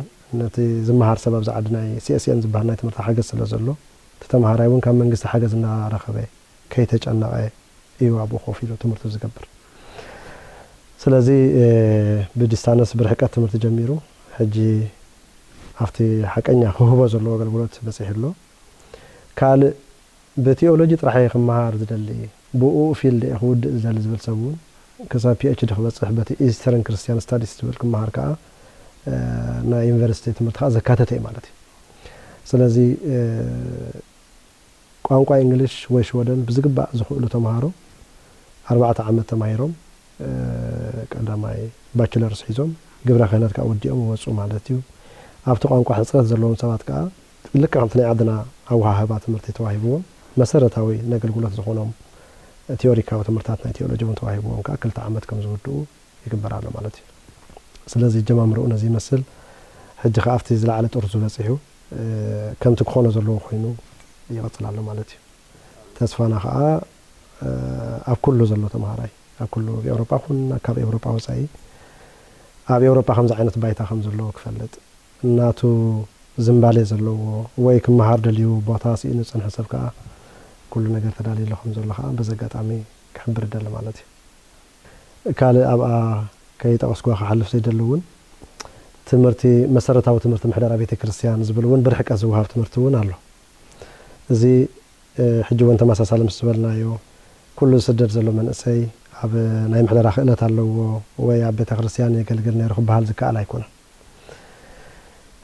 ነቲ ዝመሃር ሰብ ኣብዚ ዓዲ ናይ ሲኤስኤን ዝበሃል ናይ ትምህርቲ ሓገዝ ስለ ዘሎ እቲ ተምሃራይ እውን ካብ መንግስቲ ሓገዝ እናረኸበ ከይተጨነቐ እዩ ኣብኡ ኮፍ ኢሉ ትምህርቱ ዝገብር። ስለዚ ብዲስታንስ ብርሕቀት ትምህርቲ ጀሚሩ ሕጂ ኣብቲ ሓቀኛ ክህቦ ዘለዎ ኣገልግሎት በፂሑ ኣሎ። ካልእ ብቴዎሎጂ ጥራሕ እየ ክመሃር ዝደሊ፣ ብኡ ፊልድ እየ ክውድእ ዝደሊ ዝብል ሰብ እውን ክሳብ ፒኤችዲ ክበፅሕ በቲ ኢስተርን ክርስቲያን ስታዲስ ዝብል ክመሃር ከዓ ናይ ዩኒቨርሲቲ ትምህርቲ ከዓ ዘካተተ እዩ ማለት እዩ። ስለዚ ቋንቋ እንግሊሽ ወይ ሽወደን ብዝግባእ ዝኽእሉ ተምሃሮ ኣርባዕተ ዓመት ተማሂሮም ቀዳማይ ባችለርስ ሒዞም ግብረ ክህነት ከዓ ወዲኦም ይወፁ ማለት እዩ። ኣብቲ ቋንቋ ሕፅረት ዘለዎም ሰባት ከዓ ልክዕ ከምቲ ናይ ዓድና ኣወሃህባ ትምህርቲ ተዋሂብዎም መሰረታዊ ነገልግሎት ዝኾኖም ቲዮሪካዊ ትምህርታት ናይ ቴዎሎጂ እውን ተዋሂብዎም ከዓ ክልተ ዓመት ከም ዝውድኡ ይግበር ኣሎ ማለት እዩ። ስለዚ ጀማምርኡ ነዚ ይመስል። ሕጂ ከዓ ኣብቲ ዝለዓለ ጥርዙ በፂሑ ከምቲ ክኾኖ ዘለዎ ኮይኑ ይቐፅል ኣሎ ማለት እዩ። ተስፋና ከዓ ኣብ ኩሉ ዘሎ ተምሃራይ ኣብ ኩሉ ኤውሮጳ ኹን ካብ ኤውሮጳ ወፃኢ ኣብ ኤውሮጳ ከምዚ ዓይነት ባይታ ከም ዘለዎ ክፈልጥ እናቱ ዝምባሌ ዘለዎ ወይ ክመሃር ደልዩ ቦታ ስኢኑ ዝፀንሐ ሰብ ከዓ ኩሉ ነገር ተዳልዩ ኣሎ ከም ዘሎ ከዓ በዚ ኣጋጣሚ ክሕብር ይደሊ ማለት እዩ። ካልእ ኣብኣ ከይጠቐስኩዋ ክሓልፍ ዘይደሊ እውን ትምህርቲ መሰረታዊ ትምህርቲ ምሕደራ ቤተ ክርስቲያን ዝብል እውን ብርሕቀት ዝወሃብ ትምህርቲ እውን ኣሎ። እዚ ሕጂ እውን ተመሳሳሊ ምስ ዝበልናዮ ኩሉ ዝስደድ ዘሎ መንእሰይ ኣብ ናይ ምሕደራ ክእለት ኣለዎ ወይ ኣብ ቤተ ክርስቲያን የገልግል ነይሩ ክበሃል ዝከኣል ኣይኮነን።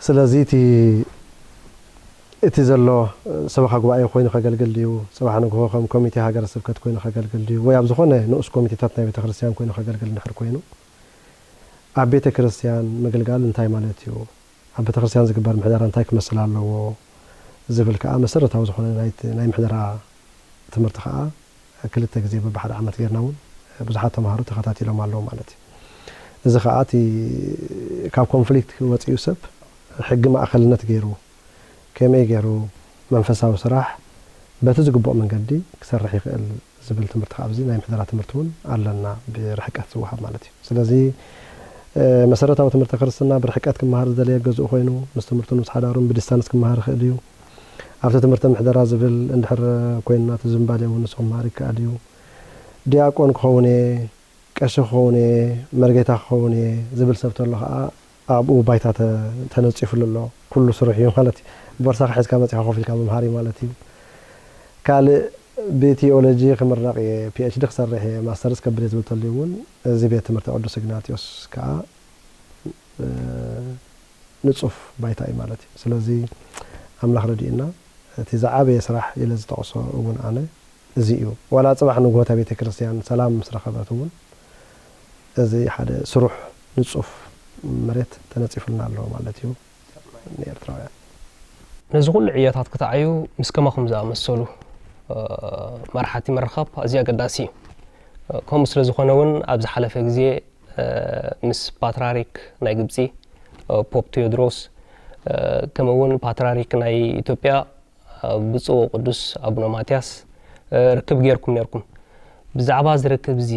ስለዚ እቲ እቲ ዘሎ ሰበኻ ጉባኤ ኮይኑ ከገልግል ድዩ፣ ጽባሕ ንግሆ ከም ኮሚቴ ሃገረ ስብከት ኮይኑ ከገልግል ድዩ፣ ወይ ኣብ ዝኾነ ንኡስ ኮሚቴታት ናይ ቤተ ክርስቲያን ኮይኑ ከገልግል እንድሕር ኮይኑ ኣብ ቤተ ክርስቲያን ምግልጋል እንታይ ማለት እዩ፣ ኣብ ቤተ ክርስቲያን ዝግበር ምሕደራ እንታይ ክመስል ኣለዎ ዝብል ከዓ መሰረታዊ ዝኾነ ናይ ምሕደራ ትምህርቲ ከዓ ክልተ ግዜ በብሓደ ዓመት ጌርና እውን ብዙሓት ተምሃሮ ተኸታቲሎም ኣለዉ ማለት እዩ። እዚ ከዓ እቲ ካብ ኮንፍሊክት ወፂኡ ሰብ ሕጊ ማእኸልነት ገይሩ ከመይ ገይሩ መንፈሳዊ ስራሕ በቲ ዝግብኦ መንገዲ ክሰርሕ ይኽእል ዝብል ትምህርቲ ካብ እዚ ናይ ምሕደራ ትምህርቲ እውን ኣለና ብርሕቀት ዝወሃብ ማለት እዩ። ስለዚ መሰረታዊ ትምህርቲ ክርስትና ብርሕቀት ክመሃር ዝደለየ ገዝኡ ኮይኑ ምስ ትምህርቱን ምስ ሓዳሩን ብዲስታንስ ክመሃር ይኽእል እዩ። ኣብቲ ትምህርቲ ምሕደራ ዝብል እንድሕር ኮይንና እቲ ዝምባሌ እውን ንሱ ክመሃር ይከኣል እዩ። ዲያቆን ክኸውን እየ፣ ቀሺ ክኸውን እየ፣ መርጌታ ክኸውን እየ ዝብል ሰብ ተሎ ከዓ ኣብኡ ባይታ ተነፂፉሉ ኣሎ። ኩሉ ስሩሕ እዩ ማለት እዩ። ቦርሳኻ ሒዝካ መፂኻ ኮፍ ኢልካ ምምሃር እዩ ማለት እዩ። ካልእ ብቲኦሎጂ ክምረቕ እየ፣ ፒኤችዲ ክሰርሕ እየ፣ ማስተርስ ከብል እየ ዝብል ተልዩ እውን እዚ ቤት ትምህርቲ ቅዱስ እግናጢዮስ ከዓ ንፁፍ ባይታ እዩ ማለት እዩ። ስለዚ ኣምላኽ ረድኡና እቲ ዝዓበየ ስራሕ ኢለ ዝጠቕሶ እውን ኣነ እዚ እዩ። ዋላ ፅባሕ ንግሆ እታ ቤተ ክርስቲያን ሰላም ምስ ረኸበት እውን እዚ ሓደ ስሩሕ ንፁፍ መሬት ተነፂፉልና ኣሎ ማለት እዩ ንኤርትራውያን። ነዚ ኩሉ ዕዮታት ክትዓዩ ምስ ከማኹም ዝኣመሰሉ መራሕቲ ምርኻብ ኣዝዩ ኣገዳሲ እዩ። ከምኡ ስለ ዝኾነ እውን ኣብ ዝሓለፈ ግዜ ምስ ፓትራሪክ ናይ ግብፂ ፖፕ ቴዎድሮስ ከምኡ እውን ፓትራሪክ ናይ ኢትዮጵያ ብፁዕ ወቅዱስ ኣቡነ ማትያስ ርክብ ጌርኩም ኔርኩም። ብዛዕባ እዚ ርክብ እዚ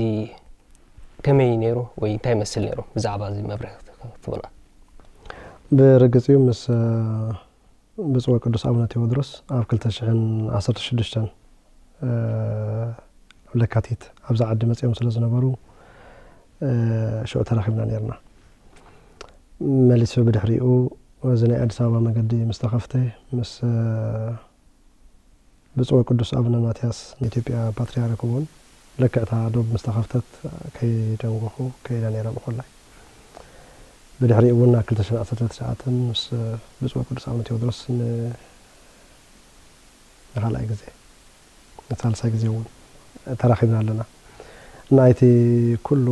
ከመይ ነይሩ ወይ እንታይ ይመስል ነይሩ? ብዛዕባ እዚ መብርሂ ክትህበና። ብርግጽ እዩ ምስ ብፁዕ ወቅዱስ ኣቡነ ቴዎድሮስ ኣብ ክልተ ሽሕን ዓሰርተ ሽዱሽተን ለካቲት ኣብዛ ዓዲ መጺኦም ስለ ዝነበሩ ሽዑ ተራኺብና ኔርና። መሊሱ ብድሕሪኡ እዚ ናይ ኣዲስ ኣበባ መገዲ ምስ ተኸፍተ ምስ ብፁዕ ወቅዱስ ኣቡነ ማትያስ ናይ ኢትዮጵያ ፓትርያርክ እውን ልክዕታ ዶብ ምስ ተኸፍተት ከይደንጎኹ ከይደ ነይረ ብኮላይ። ብድሕሪኡ እውን ኣብ ክልተ ሽሕን ዓሰርተ ትሽዓተን ምስ ብፁዕ ወቅዱስ ኣቡነ ቴዎድሮስ ንኻልኣይ ግዜ ንሳልሳይ ግዜ እውን ተራኺብና ኣለና። ናይቲ ኩሉ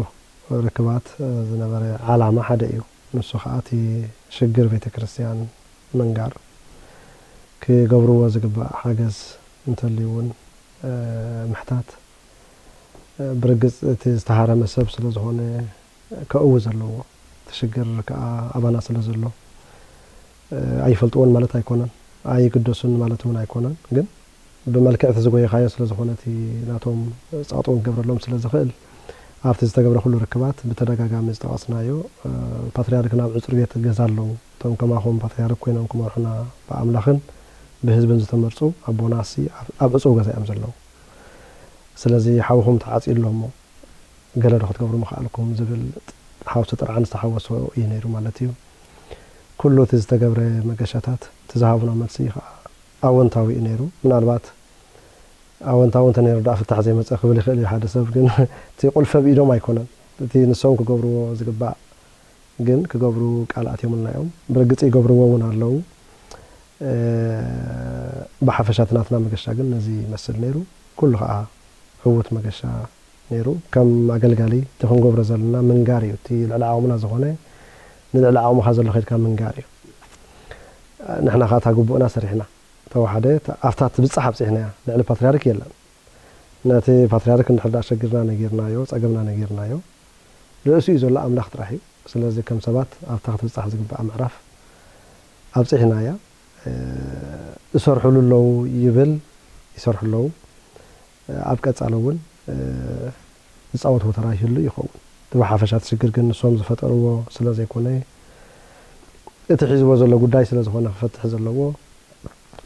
ርክባት ዝነበረ ዓላማ ሓደ እዩ። ንሱ ከዓ እቲ ሽግር ቤተ ክርስቲያን ምንጋር፣ ክገብርዎ ዝግባእ ሓገዝ እንተልዩ እውን ምሕታት፣ ብርግፅ እቲ ዝተሃረመ ሰብ ስለ ዝኾነ ከእዊ ዘለዎ እቲ ሽግር ከዓ ኣባና ስለ ዘሎ ኣይፈልጥዎን ማለት ኣይኮነን፣ ኣይግደሱን ማለት እውን ኣይኮነን። ግን ብመልክዕ እቲ ዝጎየኻዮ ስለ ዝኾነ እቲ ናቶም ፃጥውን ክገብረሎም ስለ ዝኽእል ኣብቲ ዝተገብረ ኩሉ ርክባት ብተደጋጋሚ ዝጠቐስናዮ ፓትርያርክ ናብ ዕፁር ቤት ገዛ ኣለዉ። እቶም ከማኹም ፓትርያርክ ኮይኖም ክመርሑና ብኣምላኽን ብህዝብን ዝተመርፁ ኣቦና ሲ ኣብ ዕፁው ገዛ እዮም ዘለዉ። ስለዚ ሓውኹም ተዓፅዩ ኣሎ እሞ ገለ ዶ ክትገብሩ ምኽኣልኩም ዝብል ሓውሲ ጥርዓን ዝተሓወሶ እዩ ነይሩ ማለት እዩ። ኩሉ እቲ ዝተገብረ መገሻታት እቲ ዝሃቡና መልሲ ከዓ ኣወንታዊ እዩ ነይሩ። ምናልባት ኣወንታዊ እንተነይሩ ደኣ ፍታሕ ዘይመፀ ክብል ይኽእል እዩ ሓደ ሰብ፣ ግን እቲ ቁልፊ ኣብ ኢዶም ኣይኮነን። እቲ ንሶም ክገብርዎ ዝግባእ ግን ክገብሩ ቃል ኣትዮምልና እዮም። ብርግፂ ይገብርዎ እውን ኣለዉ። ብሓፈሻ እቲ ናትና መገሻ ግን ነዚ ይመስል ነይሩ። ኩሉ ከዓ ዕዉት መገሻ ነይሩ። ከም ኣገልጋሊ እቲ ክንገብሮ ዘለና ምንጋር እዩ። እቲ ልዕሊ ዓቕምና ዝኾነ ንልዕሊ ዓቕምኻ ዘሎ ከድካ ምንጋር እዩ። ንሕና ከዓ እታ ግቡእና ሰሪሕና ተዋሕደ ኣብታ ትብጻሕ ኣብጺሕናያ። ልዕሊ ፓትርያርክ የለን። ነቲ ፓትርያርክ እንድሕር ደኣ ሸግርና ነጊርናዮ፣ ጸገምና ነጊርናዮ፣ ርእሱ እዩ ዘሎ ኣምላኽ ጥራሕ እዩ። ስለዚ ከም ሰባት ኣብታ ክትብጻሕ ዝግብኣ ምዕራፍ ኣብጺሕናያ። እሰርሕሉ ኣለዉ ይብል፣ ይሰርሑ ኣለዉ። ኣብ ቀጻሊ እውን ዝጻወትዎ ተራ ይህሉ ይኸውን። እቲ ብሓፈሻ እቲ ሽግር ግን ንሶም ዝፈጠርዎ ስለ ዘይኮነ፣ እቲ ሒዝዎ ዘሎ ጉዳይ ስለ ዝኾነ ክፈትሕ ዘለዎ፣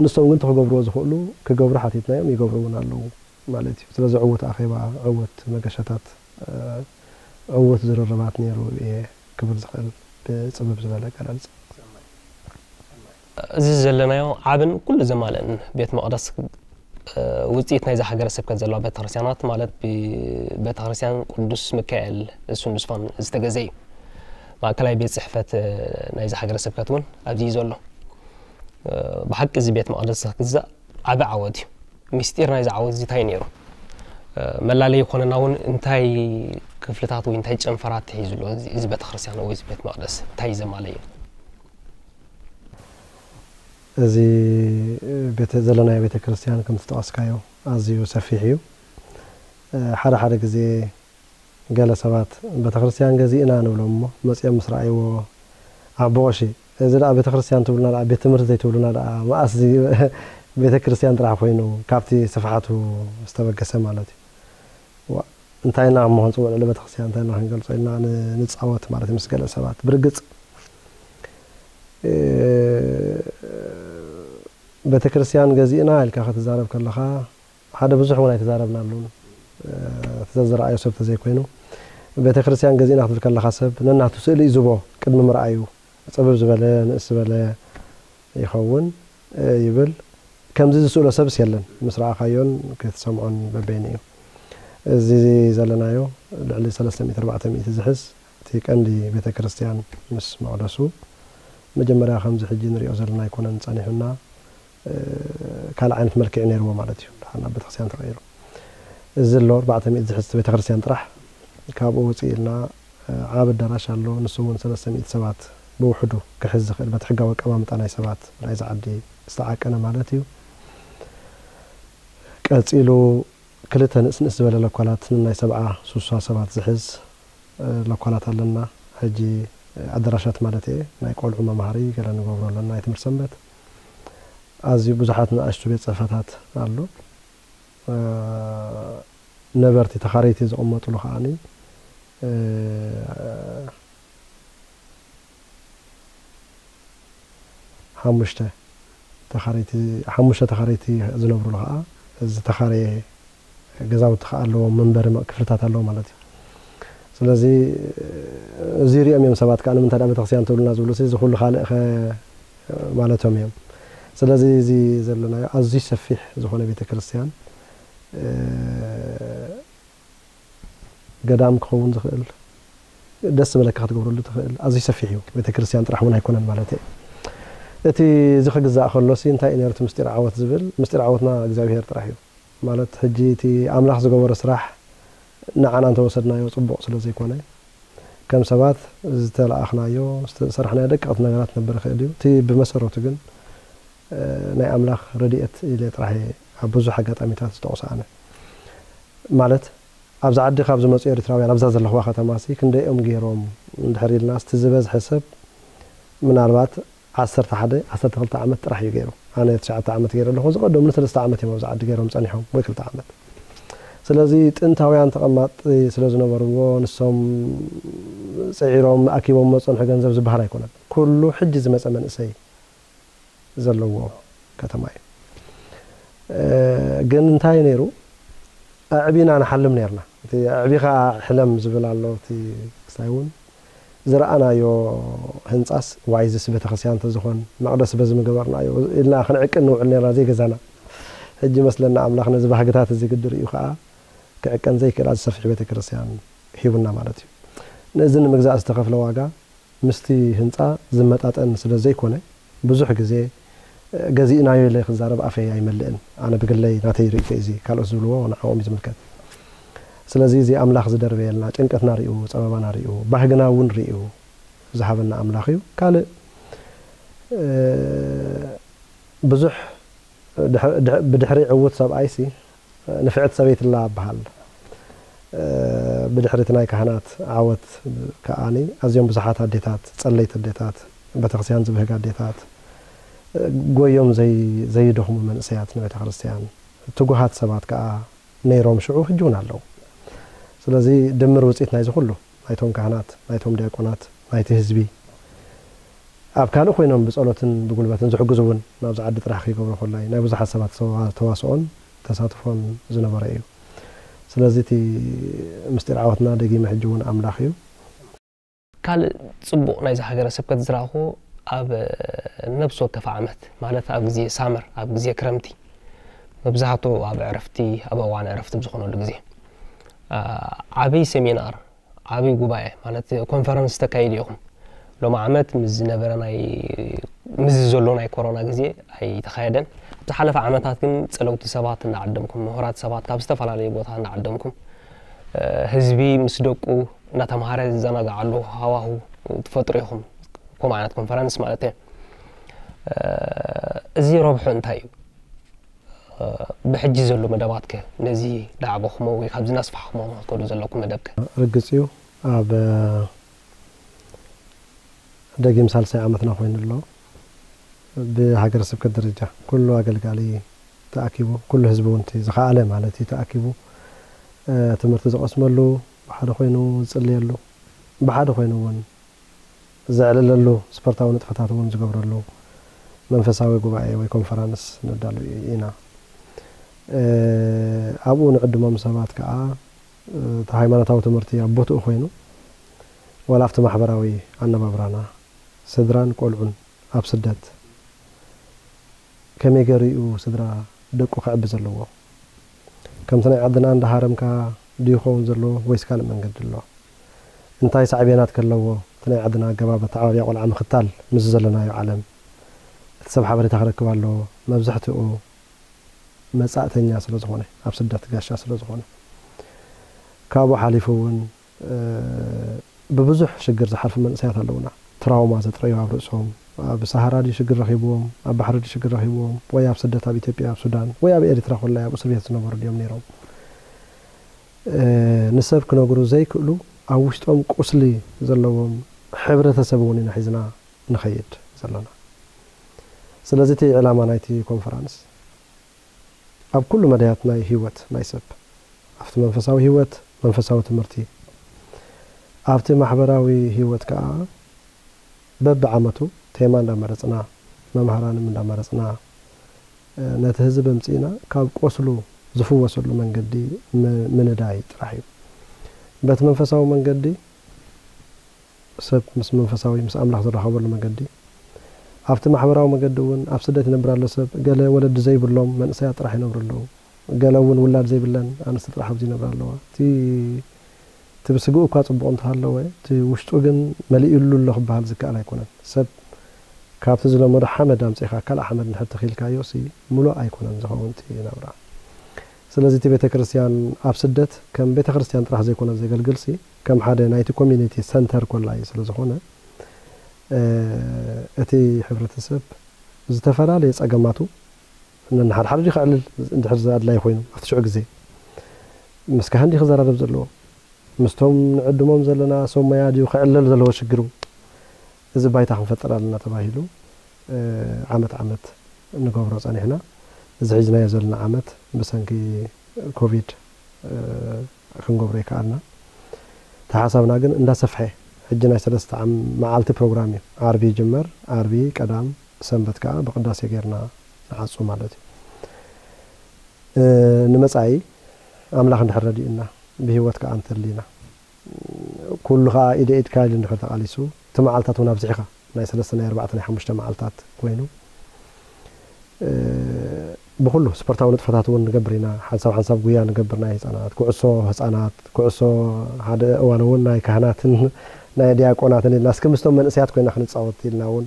ንሶም ግን እቲ ክገብርዎ ዝኽእሉ ክገብሩ ሓቲትናዮም፣ ይገብሩ እውን ኣለዉ ማለት እዩ። ስለዚ ዕዉት ኣኼባ፣ ዕዉት መገሻታት፣ ዕዉት ዝርርባት ነይሩ እየ ክብል ዝኽእል ብጽብብ ዝበለ ኣገላልጻ። እዚ ዘለናዮ ዓብን ኩሉ ዘማልእን ቤት መቕደስ ውፅኢት ናይዛ ሃገረ ስብከት ዘለዋ ቤተክርስትያናት ማለት ብቤተክርስትያን ቅዱስ ሚካኤል እሱን ዙፋን ዝተገዘ እዩ። ማእከላይ ቤት ፅሕፈት ናይዛ ሃገረ ስብከት እውን ኣብዚ እዩ ዘሎ። ብሓቂ እዚ ቤት መቕደስ ክግዛእ ዓቢ ዓወት እዩ። ምስጢር ናይዚ ዓወት እዚ እንታይ ነይሩ? መላለይ ይኾነና እውን እንታይ ክፍልታት ወይ እንታይ ጨንፈራት ሒዙ ኣሎ እዚ ቤተክርስትያን ወይ እዚ ቤት መቕደስ እንታይ እዩ ዘማለየ? እዚ ቤተ ዘለናዮ ቤተ ክርስቲያን ከም ዝጠቐስካዮ ኣዝዩ ሰፊሕ እዩ። ሓደ ሓደ ግዜ ገለ ሰባት ቤተ ክርስቲያን ገዚእና ንብሎም እሞ መጺኦም ምስ ረኣይዎ ኣቦ ቀሺ እዚ ደኣ ቤተ ክርስቲያን ትብሉና ደኣ ቤት ትምህርቲ ዘይትብሉና ደኣ መኣስ እዚ ቤተ ክርስቲያን ጥራሕ ኮይኑ ካብቲ ስፍሓቱ ዝተበገሰ ማለት እዩ። እንታይ ኢልና እሞ ክንፅውዕ ልዕሊ ቤተክርስትያን እንታይ ኢልና ክንገልፆ ኢልና ንፃወት ማለት ምስ ገለ ሰባት ብርግፅ ቤተክርስትያን ገዚእና ኢልካ ክትዛረብ ከለካ ሓደ ብዙሕ እውን ኣይተዛረብናሉን እቲ ዘዝረኣዮ ሰብ ተዘይኮይኑ ቤተክርስትያን ገዚእና ክትብል ከለካ ሰብ ነናቱ ስእሊ እዩ ዝቦ ቅድሚ ምርኣዩ ፅብብ ዝበለ ንእስ ዝበለ ይኸውን ይብል ከምዚ ዝስእሎ ሰብስ የለን ምስ ረኣኻዮን ክትሰምዖን በበይኑ እዩ እዚ ዘለናዮ ልዕሊ ሰለስተ ሚእቲ ኣርባዕተ ሚእቲ ዝሕዝ እቲ ቀንዲ ቤተ ክርስቲያን ምስ መቕደሱ መጀመርያ ከምዚ ሕጂ ንሪኦ ዘለና ኣይኮነን ጸኒሑና ካልእ ዓይነት መልክዕ ነይርዎ ማለት እዩ ድሓር ናብ ቤተክርስትያን ተቐይሩ እዚ ኣሎ ኣርባዕተ ሚእቲ ዝሕዝ ቤተክርስትያን ጥራሕ ካብኡ ውፅእ ኢልና ዓብ ኣዳራሽ ኣሎ ንሱ እውን ሰለስተ ሚእቲ ሰባት ብውሕዱ ክሕዝ ዝኽእል በቲ ሕጋዊ ኣቀማምጣ ናይ ሰባት ናይዚ ዓዲ ዝተዓቀነ ማለት እዩ ቀፂሉ ክልተ ንእስ ንእስ ዝበለ ለኳላት ንናይ ሰብዓ ሱሳ ሰባት ዝሕዝ ለኳላት ኣለና ሕጂ ኣደራሻት ማለት እየ ናይ ቆልዑ መምሃሪ ገለ ንገብሮ ኣለና ናይ ትምህርቲ ሰንበት ኣዝዩ ብዙሓት ንኣሽቱ ቤት ፅሕፈታት ኣሎ ነበርቲ ተኻረይቲ ዝቕመጥሉ ከዓኒ ሓሙሽተ ተኻረይቲ ሓሙሽተ ተኻረይቲ ዝነብሩሉ ከዓ ዝተኻረየ ገዛውቲ ከዓ ኣለዎ መንበሪ ክፍልታት ኣለዎ ማለት እዩ ስለዚ እዚ ሪኦም እዮም ሰባት ከዓ ንምንታይ ቤተክርስትያን ትብሉና ዝብሉ እዚ ኩሉ ካልእ ማለቶም እዮም ስለዚ እዚ ዘለናዮ ኣዝዩ ሰፊሕ ዝኾነ ቤተክርስትያን ገዳም ክኸውን ዝኽእል ደስ ዝበለካ ክትገብረሉ ትኽእል ኣዝዩ ሰፊሕ እዩ ቤተክርስትያን ጥራሕ እውን ኣይኮነን ማለት እዩ እቲ እዚ ክግዛእ ከሎሲ እንታይ እዩ ነሩ ምስጢር ዓወት ዝብል ምስጢር ዓወትና እግዚኣብሄር ጥራሕ እዩ ማለት ሕጂ እቲ ኣምላኽ ዝገበሮ ስራሕ ንዓና እንተወሰድናዮ ፅቡቕ ስለ ዘይኮነ ከም ሰባት ዝተለኣኽናዮ ዝተሰርሕናዮ ደቀቕቲ ነገራት ነበር ይኽእል እዩ እቲ ብመሰረቱ ግን ናይ ኣምላኽ ረድኤት ኢለ ጥራሕ ኣብ ብዙሕ ኣጋጣሚታት ዝጠቕሶ ኣነ ማለት ኣብዚ ዓዲ ካብ ዝመፁ ኤርትራውያን ኣብዛ ዘለኽዋ ከተማ ሲ ክንደይኦም ገይሮም እንድሕር ኢልና ስቲ ዝበዝሐ ሰብ ምናልባት ዓሰርተ ሓደ ዓሰርተ ክልተ ዓመት ጥራሕ እዩ ገይሩ ኣነ ትሽዓተ ዓመት ገይረ ኣለኹ ዝቐደሙኒ ሰለስተ ዓመት እዮም ኣብዚ ዓዲ ገይሮም ፀኒሖም ወይ ክልተ ዓመት ስለዚ ጥንታውያን ተቐማጢ ስለ ዝነበርዎ ንሶም ፅዒሮም ኣኪቦም መፀንሑ ገንዘብ ዝበሃል ኣይኮነን ኩሉ ሕጂ ዝመፀ መንእሰይ ዘለዎ ከተማ እዩ ግን እንታይ ነይሩ ኣዕቢና ንሓልም ነርና እቲ ኣዕቢኻ ሕለም ዝብል ኣሎ እቲ ክስታይ እውን ዝረኣናዮ ህንፃስ ዋይዝስ ቤተክርስትያን ተዝኾን መቅደስ በዚ ምገበርናዮ ኢልና ክንዕቅን ንውዕል ነርና ዘይገዛና ሕጂ መስለና ኣምላኽ ነዚ ባህግታት እዚ ግዲ ርእዩ ከዓ ክዕቀን ዘይክእል ኣዚ ሰፊሕ ቤተክርስትያን ሂቡና ማለት እዩ ነዚ ንምግዛእ ዝተኸፍለ ዋጋ ምስቲ ህንፃ ዝመጣጠን ስለ ዘይኮነ ብዙሕ ግዜ ገዚእናዮ ኢለ ክዛረብ ኣፈይ ኣይመልእን ኣነ ብግለይ ናተይ ርእቶ እዚ ካልኦት ዝብልዎ ንዓኦም እዩ ዝምልከት ስለዚ እዚ ኣምላኽ ዝደርበየልና፣ ጭንቀትና ሪኡ፣ ጸበባና ሪኡ፣ ባህግና እውን ሪኡ ዝሃበና ኣምላኽ እዩ። ካልእ፣ እ፣ ብዙሕ ድሕ-፣ ድሕ-፣ ብድሕሪ ዕዉት ሰብኣይሲ ንፍዕቲ ሰበይቲ ኣላ ይበሃል። እ፣ ብድሕሪ እቲ ናይ ካህናት ዓወት ከኣኒ ኣዝዮም ብዙሓት ኣዴታት፣ ጸለይቲ ኣዴታት፣ ቤተክርስትያን ዝብህግ ኣዴታት፣ እ፣ ጎዮም ዘይ-፣ ዘይደኽሙ መንእሰያት ንቤተክርስትያን፣ ትጉሃት ሰባት ከኣ ነይሮም ሽዑ፣ ሕጂ እውን ኣለዉ። ስለዚ ድምር ውጽኢት ናይዚ ኩሉ፣ ናይቶም ካህናት፣ ናይቶም ዲያቆናት፣ ናይቲ ህዝቢ፣ ኣብ ካልእ ኮይኖም ብጸሎትን ብጉልበትን ዝሕግዙ እውን፣ ናብዚ ዓዲ ጥራሕ ከይገብሮ ኮላይ ናይ ብዙሓት ሰባት ተዋ-፣ ተዋስኦን ተሳትፎን ዝነበረ እዩ። ስለዚ እቲ ምስጢር ዓወትና ደጊመ ሕጂ እውን ኣምላኽ እዩ። ካልእ ጽቡቕ ናይዚ ሃገረ ስብከት ዝረኣኹ፣ ኣብ ነብሲ ወከፍ ዓመት፣ ማለት ኣብ ግዜ ሳመር፣ ኣብ ግዜ ክረምቲ፣ መብዛሕትኡ ኣብ ዕረፍቲ፣ ኣብ እዋን ዕረፍቲ ብዝኾነሉ ግዜ፣ ኣ፣ ዓብዪ ሴሚናር፣ ዓብዪ ጉባኤ፣ ማለት ኮንፈረንስ ተካይዱ ኢኹም። ሎሚ ዓመት ምስ ዝነበረ ናይ፣ ምስ ዘሎ ናይ ኮሮና ግዜ ኣይተኻየደን። ኣብ ዝሓለፈ ዓመታት ግን ጸለውቲ ሰባት እናዓደምኩም፣ ምሁራት ሰባት ካብ ዝተፈላለዩ ቦታ እናዓደምኩም፣ እ፣ ህዝቢ ምስ ደቁ እናተምሃረ ዝዘናግዓሉ ሃዋሁ ትፈጥሩ ኢኹም፣ ከምኡ ዓይነት ኮንፈረንስ ማለት እየ። እ፣ እዚ ረብሑ እንታይ እዩ? እ፣ ብሕጂ ዘሎ መደባትከ ነዚ ዳዕበኹሞ ወይ ካብዚ እናስፋሕኹሞ ንክትከዱ ዘለኩም መደብከ? ርግጽ እዩ፣ ኣብ ደጊም ሳልሳይ ዓመትና ኮይኑ ኣሎ። ብሃገረ ስብከት ደረጃ ኩሉ ኣገልጋሊ ተኣኪቡ፣ ኩሉ ህዝቢ እውን እቲ ዝኸኣለ ማለት እዩ ተኣኪቡ፣ እ፣ ትምህርቲ ዝቐስመሉ፣ ብሓደ ኮይኑ ዝጽልየሉ፣ ብሓደ ኮይኑ እውን ዘዕልለሉ፣ ስፖርታዊ ንጥፈታት እውን ዝገብረሉ መንፈሳዊ ጉባኤ ወይ ኮንፈራንስ ነዳሉ ኢና። እ፣ ኣብኡ ንዕድሞም ሰባት ከኣ፣ እ፣ እቲ ሃይማኖታዊ ትምህርቲ ኣብ ቦትኡ ኮይኑ፣ ዋላ ኣብቲ ማሕበራዊ ኣነባብራና፣ ስድራን ቆልዑን ኣብ ስደት ከመይ ገይሩ እዩ ስድራ ደቁ ከዕቢ ዘለዎ? ከምቲ ናይ ዓድና እንዳሃረምካ ድዩ ክኸውን ዘለዎ ወይስ ካልእ መንገዲ ኣሎ? እንታይ ሳዕቤናት ከለዎ እቲ ናይ ዓድና ኣገባብ ኣተዓባብያ ቆልዓ ምኽታል ምስ ዘለናዮ ዓለም? እቲ ሰብ ሓበሬታ ክረክብ ኣለዎ። መብዛሕትኡ መጻእተኛ ስለ ዝኾነ፣ ኣብ ስደት ጋሻ ስለ ዝኾነ፣ ካብኡ ሓሊፉ እውን፣ እ፣ ብብዙሕ ሽግር ዝሓልፉ መንእሰያት ኣለዉና። ትራውማ ዘጥረዩ ኣብ ርእሶም፣ ኣብ ሰሃራ ድዩ ሽግር ረኺብዎም፣ ኣብ ባሕሪ ድዩ ሽግር ረኺብዎም፣ ወይ ኣብ ስደት ኣብ ኢትዮጵያ፣ ኣብ ሱዳን፣ ወይ ኣብ ኤሪትራ ኮላይ ኣብ እስር ቤት ዝነበሩ ድዮም ነይሮም? እ፣ ንሰብ ክነግሩ ዘይክእሉ፣ ኣብ ውሽጦም ቁስሊ ዘለዎም ሕብረተሰብ እውን ኢና ሒዝና ንኸይድ ዘለና። ስለዚ እቲ ዕላማ ናይቲ ኮንፈራንስ ኣብ ኩሉ መዳያት ናይ ህይወት ናይ ሰብ፣ ኣብቲ መንፈሳዊ ህይወት፣ መንፈሳዊ ትምህርቲ፣ ኣብቲ ማሕበራዊ ህይወት ከኣ በብዓመቱ ቴማ እንዳመረጽና፣ መምሃራንም እንዳመረጽና፣ እ፣ ነቲ ህዝቢ ኣምጺእና ካብ ቆስሉ ዝፍወሰሉ መንገዲ ም-፣ ምንዳይ ጥራሕ እዩ። በቲ መንፈሳዊ መንገዲ ሰብ ምስ መንፈሳዊ፣ ምስ ኣምላኽ ዝራኸበሉ መገዲ፣ ኣብቲ ማሕበራዊ መገዲ እውን ኣብ ስደት ይነብር ኣሎ ሰብ። ገለ ወለዲ ዘይብሎም መንእሰያት ጥራሕ ይነብሩ ኣለዉ። ገለ እውን ውላድ ዘይብለን ኣንስቲ ጥራሕ ኣብዚ ይነብራ ኣለዋ። እቲ፣ እቲ ብስግኡ እኳ ጽቡቕ እንተሃለወ፣ እቲ ውሽጡ ግን መሊኡሉ ኣሎ ክበሃል ዝከኣል ኣይኮነን። ሰብ ካብቲ ዝለመዶ ሓመድ ኣምጺእኻ ካልእ ሓመድ እንድሕር ተኺልካዮ ሲ ምሉእ ኣይኮነን ዝኸውን እቲ ናብራ። ስለዚ እቲ ቤተ ክርስቲያን ኣብ ስደት ከም ቤተ ክርስቲያን ጥራሕ ዘይኮነ ዘገልግል ሲ ከም ሓደ ናይቲ ኮሚኒቲ ሰንተር ኮላይ ስለ ዝኾነ፣ እ፣ እቲ ሕብረተሰብ ዝተፈላለየ ጸገማቱ ነንሓድሓደ ድዩ ከዕልል እንድሕር ኣድላይ ኮይኑ ኣብቲ ሽዑ ግዜ ምስ ካህን ድዩ ክዘራረብ ዘለዎ? ምስቶም ንዕድሞም ዘለና ሰብ ሞያ ድዩ ክዕለል ዘለዎ ሽግሩ? እዚ ባይታ ክንፈጥር ኣለና ተባሂሉ፣ እ፣ ዓመት ዓመት ንገብሮ ጸኒሕና። እዚ ሒዝናዮ ዘለና ዓመት ብሰንኪ ኮቪድ፣ እ፣ ክንገብሮ ይከኣልና። እቲ ሓሳብና ግን እንዳሰፍሐ፣ ሕጂ ናይ ሰለስተ ዓም-፣ መዓልቲ ፕሮግራም እዩ። ዓርቢ ይጅመር፣ ዓርቢ፣ ቀዳም፣ ሰንበት ከኣ ብቅዳሴ ጌርና ንዓጹ ማለት እዩ። እ፣ ንመጻኢ ኣምላኽ እንድሕር ረዲኡና፣ ብህይወት ከኣ እንተሊና፣ ኩሉ ከኣ ኢደ ኢድካ ኢሉ እንድሕር ተቓሊሱ፣ እቲ መዓልታት እውን ኣብዚሕኻ፣ ናይ ሰለስተ፣ ናይ ኣርባዕተ፣ ናይ ሓሙሽተ መዓልታት ኮይኑ፣ እ፣ ብኹሉ ስፖርታዊ ንጥፈታት እውን ንገብር ኢና። ሓንሳብ ሓንሳብ ጉያ ንገብር፣ ናይ ህጻናት፣ ኩዕሶ ህጻናት፣ ኩዕሶ፣ ሓደ እዋን እውን ናይ ካህናትን ናይ ዲያቆናትን ኢልና እስከ ምስቶም መንእሰያት ኮይና ክንጻወት ኢልና እውን፣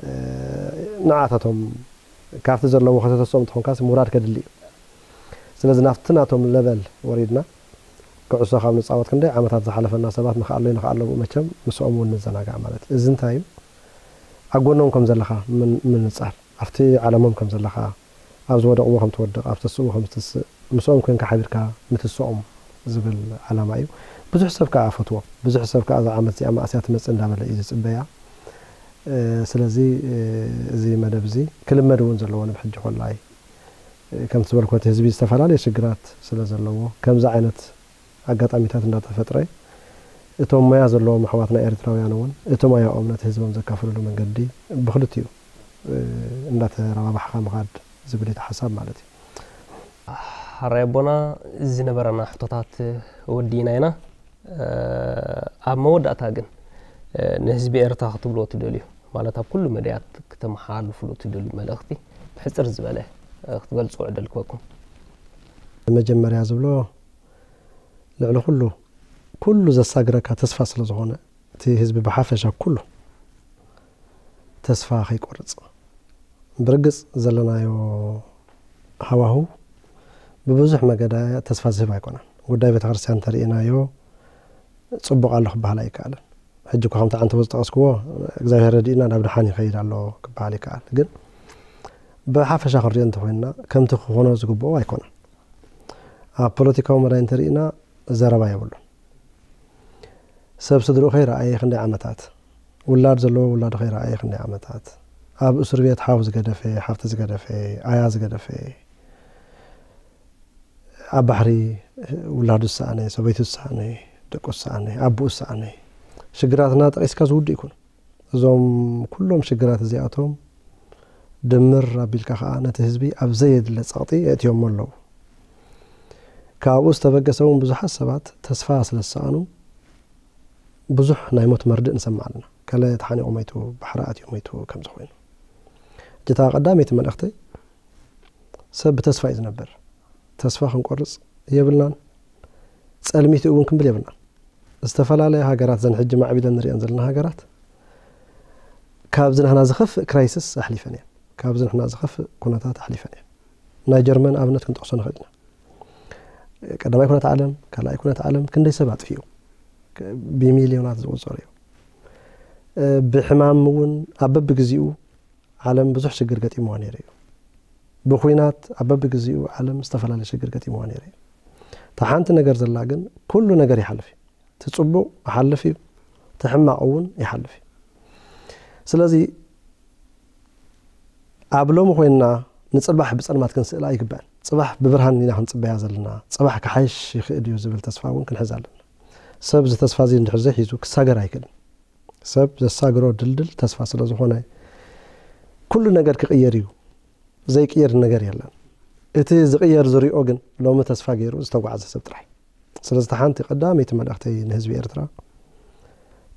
እ፣ ንዓታቶም ካብቲ ዘለዎ ከተተስኦም እንተኾንካስ ምውራድ ከድሊ እዩ። ስለዚ ናብቲ ናቶም ለቨል ወሪድና፣ ኩዕሶ ካብ ንጻወት ክንደይ ዓመታት ዝሓለፈና ሰባት ንኽኣሎ ንኽኣሎ ብኡ መቸም ምስኦም እውን ንዘናጋዕ ማለት እዩ። እዚ እንታይ እዩ? ኣብ ጎኖም ከም ዘለኻ ምን- ምንጻር፣ ኣብቲ ዓለሞም ከም ዘለኻ፣ ኣብ ዝወደቕዎ ከም ትወድቕ፣ ኣብ ተስእዎ ከም ትስእ፣ ምስኦም ኮንካ ሓቢርካ ንትስኦም ዝብል ዓላማ እዩ። ብዙሕ ሰብ ከኣ ፈትዎ፣ ብዙሕ ሰብ ከኣ እዛ ዓመት እዚኣ ማእስያ ትመጽእ እንዳበለ እዩ ዝጽበያ። ስለዚ እዚ መደብ እዚ ክልመድ እውን ዘለዎ ንብሕጂ ኮላይ ከምቲ ዝበልኩ እቲ ህዝቢ ዝተፈላለየ ሽግራት ስለ ዘለዎ ከምዚ ዓይነት ኣጋጣሚታት እንዳተፈጥረ እቶም ሞያ ዘለዎም ኣሕዋትና ኤርትራውያን እውን እቲ ሞያኦም ነቲ ህዝቦም ዘካፍልሉ መንገዲ ብክልቲኡ እንዳተረባባሕካ ምኻድ ዝብል እቲ ሓሳብ ማለት እዩ። ሓራይ ኣቦና ዝነበረና ሕቶታት ወዲና ኢና። ኣብ መወዳእታ ግን ንህዝቢ ኤርትራ ክትብልዎ ትደልዩ ማለት ኣብ ኩሉ መድያት ክተመሓላልፍሉ ትደልዩ መልእኽቲ ብሕፅር ዝበለ ክትገልፁ ዕድል ክበኩም። መጀመርያ ዝብሎ ልዕሊ ኩሉ ኩሉ ዘሳግረካ ተስፋ ስለ ዝኾነ እቲ ህዝቢ ብሓፈሻ ኩሉ ተስፋ ከይቆርፅ ብርግፅ ዘለናዮ ሃዋህው ብብዙሕ መገዳ ተስፋ ዝህብ ኣይኮነን። ጉዳይ ቤተክርስትያን እንተርኢናዮ ፅቡቕ ኣሎ ክበሃል ኣይከኣልን። ሕጂ እኳ ከምቲ ዓንተቦ ዝጠቐስክዎ እግዚኣብሔር ረዲእና ናብ ደሓን ይኸይድ ኣሎ ክበሃል ይከኣል። ግን ብሓፈሻ ክንሪኦ እንተኮይንና ከምቲ ክኾኖ ዝግብኦ ኣይኮነን። ኣብ ፖለቲካዊ መዳይ እንተርኢና ዘረባ የብሉን። ሰብ ስድርኡ ከይረኣየ ክንደይ ዓመታት፣ ውላድ ዘለዎ ውላዱ ከይረኣየ ክንደይ ዓመታት፣ ኣብ እስር ቤት ሓው ዝገደፈ፣ ሓፍቲ ዝገደፈ፣ ኣያ ዝገደፈ፣ ኣብ ባሕሪ ውላዱ ዝሰኣነ፣ ሰበይቱ ዝሰኣነ፣ ደቁ ዝሰኣነ፣ ኣቦኡ ዝሰኣነ፣ ሽግራትና ጠቒስካ ዝውድእ ይኩን። እዞም ኩሎም ሽግራት እዚኣቶም ድምር ኣቢልካ ከኣ ነቲ ህዝቢ ኣብ ዘየድለ ጸቕጢ የእትዮሞ ኣለዉ። ካብኡ ዝተበገሰ እውን ብዙሓት ሰባት ተስፋ ስለ ዝሰኣኑ ብዙሕ ናይ ሞት መርድእ ንሰምዕ ኣለና። ከለ ተሓኒቑ ሞይቱ፣ ባሕሪ ኣትዩ ሞይቱ ከምዚ ኮይኑ። ሕጂ እታ ቀዳመይቲ መልእኽተይ ሰብ ብተስፋ እዩ ዝነብር። ተስፋ ክንቆርጽ የብልናን። ጸልሚቱ እውን ክንብል የብልናን። ዝተፈላለያ ሃገራት ዘን ሕጂ ማዕቢለን ንሪአን ዘለና ሃገራት ካብዚ ንሕና ዝኸፍእ ክራይስስ ኣሕሊፈን እየን። ካብዚ ንሕና ዝኸፍእ ኩነታት ኣሕሊፈን እየን። ናይ ጀርመን ኣብነት ክንጠቕሶ ንኽእል ኢና። ቀዳማይ ኩነት ዓለም፣ ካልኣይ ኩነት ዓለም ክንደይ ሰብ ኣጥፊኡ ብሚልዮናት ዝቑጸር እዩ። ብሕማም እውን ኣብ በብግዚኡ ዓለም ብዙሕ ሽግር ገጢምዋ ነይሩ እዩ። ብኹናት ኣብ በብግዚኡ ዓለም ዝተፈላለየ ሽግር ገጢምዋ ነይሩ እዩ። እታ ሓንቲ ነገር ዘላ ግን ኩሉ ነገር ይሓልፍ እዩ። እቲ ጽቡቕ ይሓልፍ እዩ፣ እቲ ሕማቕ እውን ይሓልፍ እዩ። ስለዚ ኣብ ሎሚ ኮይንና ንጽባሕ ብጸልማት ክንስእላ ኣይግባእን። ጽባሕ ብብርሃን ኢና ክንጽበያ ዘለና። ጽባሕ ክሓይሽ ይኽእል እዩ ዝብል ተስፋ እውን ክንሕዝ ኣለና። ሰብ እዚ ተስፋ እዚ እንድሕር ዘይሒዙ ክሳገር ኣይክእልን። ሰብ ዘሳግሮ ድልድል ተስፋ ስለ ዝኾነ ኩሉ ነገር ክቕየር እዩ። ዘይቅየር ነገር የለን። እቲ ዝቕየር ዝሪኦ ግን ሎሚ ተስፋ ገይሩ ዝተጓዕዘ ሰብ ጥራይ። ስለዚ እታ ሓንቲ ቀዳመይቲ መልእኽተይ ንህዝቢ ኤርትራ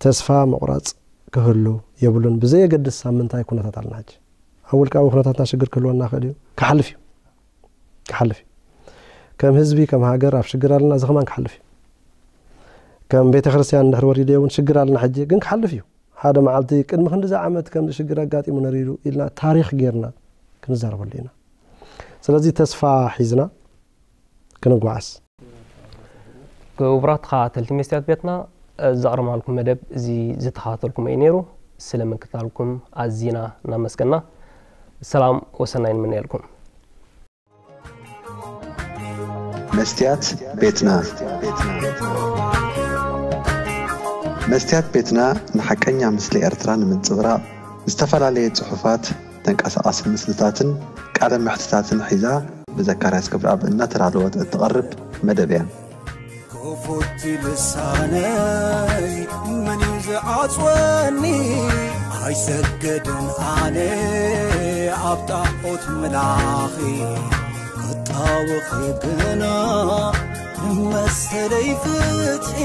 ተስፋ ምቑራጽ ክህሉ የብሉን። ብዘየገድስ ኣብ ምንታይ ኩነታት ኣለና ሕጂ? ኣብ ውልቃዊ ኩነታትና ሽግር ክህልወና ይኽእል እዩ። ክሓልፍ እዩ። ክሓልፍ እዩ። ከም ህዝቢ ከም ሃገር ኣብ ሽግር ኣለና። እዚ ከማን ክሓልፍ እዩ። ከም ቤተ ክርስቲያን እንድሕር ወሪደ እውን ሽግር ኣለና ሕጂ ግን ክሓልፍ እዩ። ሓደ መዓልቲ ቅድሚ ክንድዚ ዓመት ከምዚ ሽግር ኣጋጢሙ ነሪሩ ኢልና ታሪኽ ጌርና ክንዛረበሉ ኢና። ስለዚ ተስፋ ሒዝና ክንጓዓዝ። ክቡራት ተኸታተልቲ መስትያት ቤትና ዘቕረብናልኩም መደብ እዚ ዝተኸታተልኩም እዩ ነይሩ። ስለ ምክታልኩም ኣዚና እናመስገና ሰላም ወሰናይ ንምነየልኩም። መስትያት ቤትና። መስትያት ቤትና ንሓቀኛ ምስሊ ኤርትራ ንምንጽብራቕ ዝተፈላለየ ጽሑፋት፣ ተንቀሳቓሲ ምስልታትን ቃለ መሕትታትን ሒዛ ብዘካርያስ ክብረኣብ እናተዳለወት እትቐርብ መደብ እያ። ክፉት ልሳነይ መን እዩ ዝዓጽወኒ? ኣይሰገድን ኣነ ኣብ ጣዖት ምላኺ ክጣወኺ ግና መሰለይ ፍትሒ